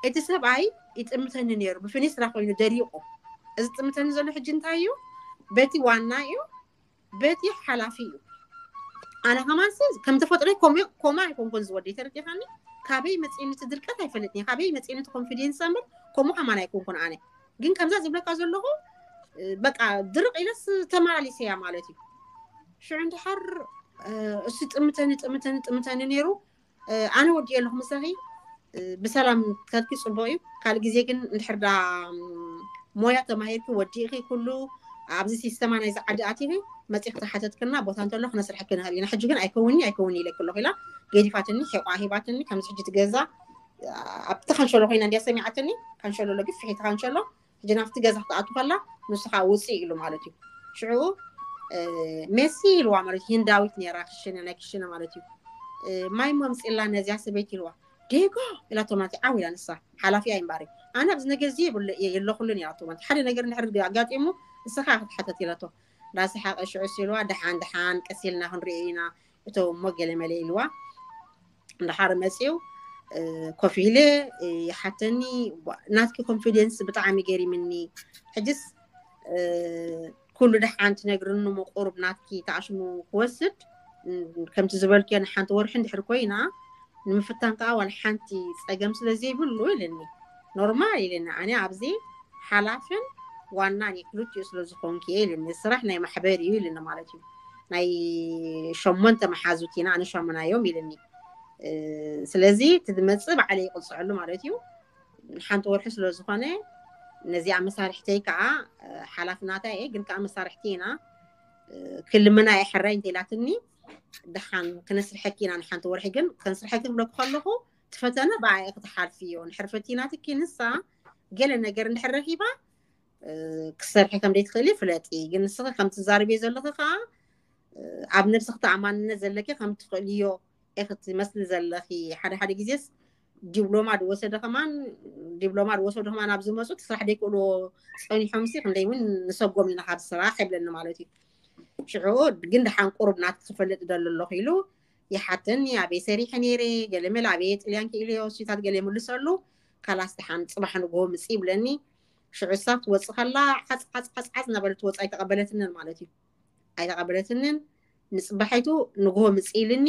እቲ ሰብኣይ ይጥምተኒ ነይሩ ብፍኒ ስራ ኮይኑ ደሪቑ። እዚ ጥምተኒ ዘሎ ሕጂ እንታይ እዩ? በቲ ዋና እዩ፣ በቲ ሓላፊ እዩ። ኣነ ከማን ሲ ከም ተፈጥሮ ኮማ ኣይኮንኮን ዝወደ ተረዲኻኒ። ካበይ መፅእኒ እቲ ድርቀት ኣይፈልጥኒ፣ ካበይ መፅእኒ እቲ ኮንፊደንስ እምበር ከምኡ ከማን ኣይኮንኩን ኣነ። ግን ከምዛ ዝብለካ ዘለኹ በቃ ድርቕ ኢለስ ተመላሊሰያ ማለት እዩ። ሽዑ እንድሓር እሱ ጥምተኒ ጥምተኒ ጥምተኒ ነይሩ። ኣነ ወዲኤ ኣለኹ ምሳኺ ብሰላም ከድኪ ፅቡቅ እዩ። ካልእ ግዜ ግን እንድሕር ዳ ሞያ ተማሂርኪ ወዲእኺ ኩሉ ኣብዚ ሲስተማ ናይዚ ዓዲ ኣቲኺ መፂኺ ተሓተትክና ቦታ እንተሎ ክነስርሐኪ ንኽእል ኢና። ሕጂ ግን ኣይከውኒ ኣይከውኒ ኢለኪ ኣለኹ ኢላ ገዲፋትኒ፣ ሒቋ ሂባትኒ። ከምዚ ሕጂ ትገዛ ኣብቲ ካንሸሎ ኮይና እንዲያ ሰሚዓትኒ። ካንሸሎ ኣሎ ግፍሕ እቲ ካንሸሎ። ሕጂ ናብቲ ገዛ ክትኣቱ ከላ ንሱ ከዓ ውፅእ ኢሉ ማለት እዩ። ሽዑ ሜሲ ኢልዋ ማለት እዩ። ህንዳዊት ነይራ ክሽነ ናይ ክሽነ ማለት እዩ። ማይ መምፅላ ነዚያ ሰበይቲ ኢልዋ። ዴጎ ኢላቶ ማለት ዓው ኢላ ንሳ ሓላፊ ኣይምባሪ ኣነ ኣብዚ ነገር እዚ የብሉ የለኩሉን ኢላቶ ማለት ሓደ ነገር እንድሕር ኣጋጢሙ ንስኻ ክትሓተት ኢላቶ። እንዳሰሓቀ ሽዑ ሲልዋ ደሓን ደሓን ቀሲልና ክንሪኦ ኢና እቶ እሞ ገለመለ ኢልዋ። እንዳሓር መፅው ኮፍ ኢለ ይሓተኒ። ናትኪ ኮንፊደንስ ብጣዕሚ ገሪምኒ። ሕጅስ ኩሉ ደሓን ትነግርኒ ምቁሩብ ናትኪ ተኣሽሙ ክወስድ ከምቲ ዝበልክዮ ንሓንቲ ወርሒ እንድሕር ኮይና ንምፍታን ከዓ ዋላ ሓንቲ ፀገም ስለ ዘይብሉ ኢልኒ። ኖርማል ኢልኒ። ኣነ ኣብዚ ሓላፍን ዋናን ክልቲኡ ስለ ዝኾንክ እየ ኢልኒ። ስራሕ ናይ ማሕበር እዩ ኢልኒ ማለት እዩ። ናይ ሸሞንተ መሓዙት ኢና ኣነ ሸሙናዮም ኢልኒ። ስለዚ እቲ ዝመፅእ ባዕለ ይቅፅዐሉ ማለት እዩ። ሓንቲ ወርሒ ስለ ዝኾነ ነዚኣ መሳርሕተይ ከዓ ሓላፍናታ እየ ግን ከዓ መሳርሕቲ ኢና ክልምና እየ ሕራይ እንተኢላትኒ ደሓን ክነስርሐኪ ኢና ንሓንቲ ወርሒ ግን ከንስርሐኪ ክብለኩ ከለኹ ትፈተነ ብኣየ ክትሓልፊ እዮ ንሕርፈቲ ናትኪ ንሳ ገለ ነገር እንድሕር ረኺባ ክሰርሒ ከም ዘይትኽእሊ ፍለጢ ግን ንስኺ ከም ትዛርብዮ ዘለኺ ከዓ ኣብ ነብስኺ ተኣማንነት ዘለኪ ከም ትኽእልዮ ኢኺ ትመስሊ ዘለኺ ሓደ ሓደ ግዜስ ዲፕሎማ ዝወሰደ ከማን ዲፕሎማ ዝወሰዱ ከማን ኣብ ዝመፁ እቲ ስራሕ ዘይክእልዎ ፀኒሖም ሲ ክንደይ እውን ንሰጎም ኢና ካብ ስራሕ ይብለኒ ማለት እዩ። ሽዑ ግን ደሓን ቁሩብ ናት ክፈልጥ ደሎ ኣለኹ ኢሉ ይሓተኒ ኣበይ ሰሪሐ ነይረ ገለመለ ኣበየ ጥልያን ክኢለዮ እሱታት ገለ ይምልሰሉ ካላስ ደሓን ፅባሕ ንግሆ ምፅ ይብለኒ። ሽዑ እሳ ትወፅእ ከላ ዓፅ ዓፅ ዓፅ ዓፅ እናበለት ትወፅ ኣይተቐበለትንን ማለት እዩ። ኣይተቐበለትንን ንፅባሐይቱ ንግሆ ምፅ ኢልኒ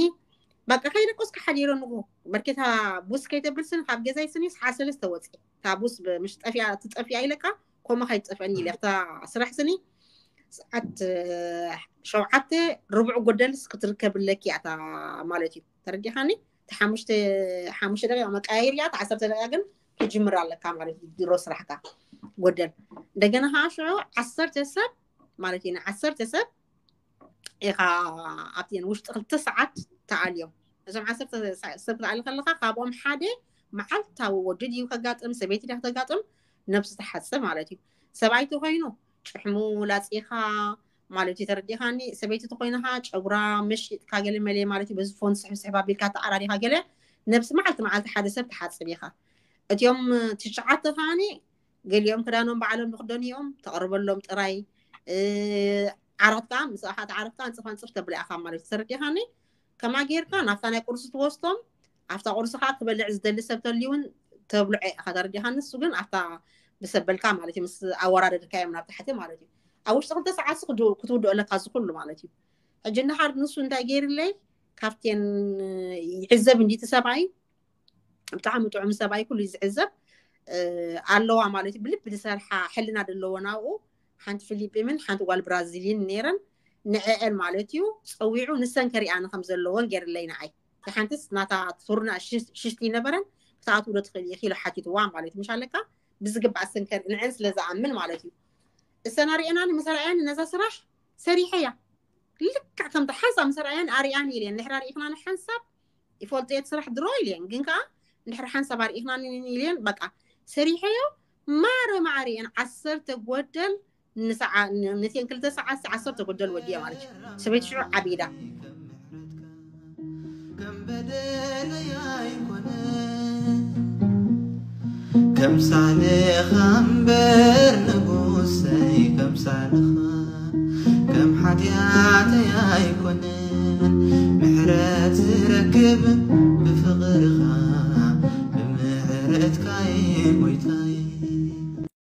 በቃ ከይደቆስካ ሓዲሮ ንግሆ በርኬታ ቡስ ከይተብል ስኒ ካብ ገዛይ ስኒ ሰዓት ሰለስተ ወፅእ እታ ቡስ ምሽ ጠፊኣ ትጠፊኣ ኢለካ ኮማ ከይትጠፍአኒ ኢለ እታ ስራሕ ስኒ ሰዓት ሸውዓተ ርቡዕ ጎደልስ ክትርከብለኪ እያ እታ ማለት እዩ ተረዲኻኒ ሓሙሽተ ሓሙሽተ ደቂቃ መቃየር እያ እታ ዓሰርተ ደቂቃ ግን ክጅምር ኣለካ ማለት እዩ ድሮ ስራሕካ ጎደል እንደገና ከዓ ሽዑ ዓሰርተ ሰብ ማለት እዩ ንዓሰርተ ሰብ ኢኻ ኣብቲ ውሽጢ ክልተ ሰዓት ተኣልዮም እዞም ዓሰርተ ሰብ ክትኣሊ ከለካ ካብኦም ሓደ መዓልታዊ ወዲ ድዩ ከጋጥም ሰበይቲ ድያ ከተጋጥም ነብሱ ትሓፅብ ማለት እዩ ሰብኣይ ተኮይኑ ጭሕሙ ላፂኻ ማለት እዩ ተረዲኻኒ ሰበይቲ ተኮይንካ ጨጉራ መሽጥካ ገለ መለ ማለት እዩ በዚ ፎን ስሕብ ስሕብ ኣቢልካ ተዓራሪኻ ገለ ነብሲ መዓልቲ መዓልቲ ሓደ ሰብ ትሓፅብ ኢኻ እቲኦም ትሽዓተ ከዓኒ ገሊኦም ክዳኖም ባዕሎም ዝክደኑ እዮም ተቅርበሎም ጥራይ ዓራት ከዓ ምስ ኣሓት ዓራት ከዓ ንፅፋ ንፅፍ ተብላ ኢኻ ማለት ተረዲኻኒ ከማ ጌርካ ናብታ ናይ ቁርሲ ትወስዶም ኣብታ ቁርሲ ከዓ ክበልዕ ዝደሊ ሰብ ተልዩ እውን ተብልዖ ኢኻ ተረዲኻኒ እሱ ግን ኣብታ ብሰበልካ ማለት እዩ ምስ ኣወራደድካ እዮም ናብ ታሕቲ ማለት እዩ ኣብ ውሽጢ ክልተ ሰዓት ክትውድኦ ኣለካ ዝኩሉ ማለት እዩ ሕጂ እንድሓር ንሱ እንታይ ገይርለይ ካብቴን ይዕዘብ እንዲቲ ሰብኣይ ብጣዕሚ ጥዑም ሰብኣይ ኩሉ ዝዕዘብ ኣለዋ ማለት እዩ ብልቢ ዝሰርሓ ሕልና ዘለዎ ናብኡ ሓንቲ ፊሊጲምን ሓንቲ ጓል ብራዚልን ነይረን ንዕአን ማለት እዩ ፀዊዑ ንሰን ከሪኣኒ ከም ዘለዎን ገይርለይ ንዓይ ሓንቲስ ናታ ቱርና ሽሽቲ ይነበረን ክትኣትው ዶ ትኽእል ኢኺ ኢሉ ሓቲትዋ ማለት እዩ ምሽ ኣለካ ብዝግባእ ሰንከር ንዕን ስለ ዝኣምን ማለት እዩ እሰን ኣርኤናኒ ምስ ኣርኣያን ነዛ ስራሕ ሰሪሐያ ልክዕ ከምቲ ሓንሳብ ምስ ኣርኣያን ኣርኣያን ኢለ ንድሕር ኣርኢኽና ንሓንሳብ ይፈልጦ እየ እቲ ስራሕ ድሮ ኢልየን፣ ግን ከዓ እንድሕር ሓንሳብ ኣርኢኽናኒ ኢልየን፣ በቃ ሰሪሐዮ። ማረ ማዕረ እየን ዓሰርተ ጎደል ንሰዓ፣ ንቴን ክልተ ሰዓት ዓሰርተ ጎደል ወዲየ ማለት እዩ። ሰበይቲ ሽዑ ዓቢዳ። ከም በደለይ ኣይኮነ ከምሳልኻ እምበር ንጉሰይ ከምሳልኻ ከም ሓጢኣተይ ኣይኮነን ምሕረት ዝረክብ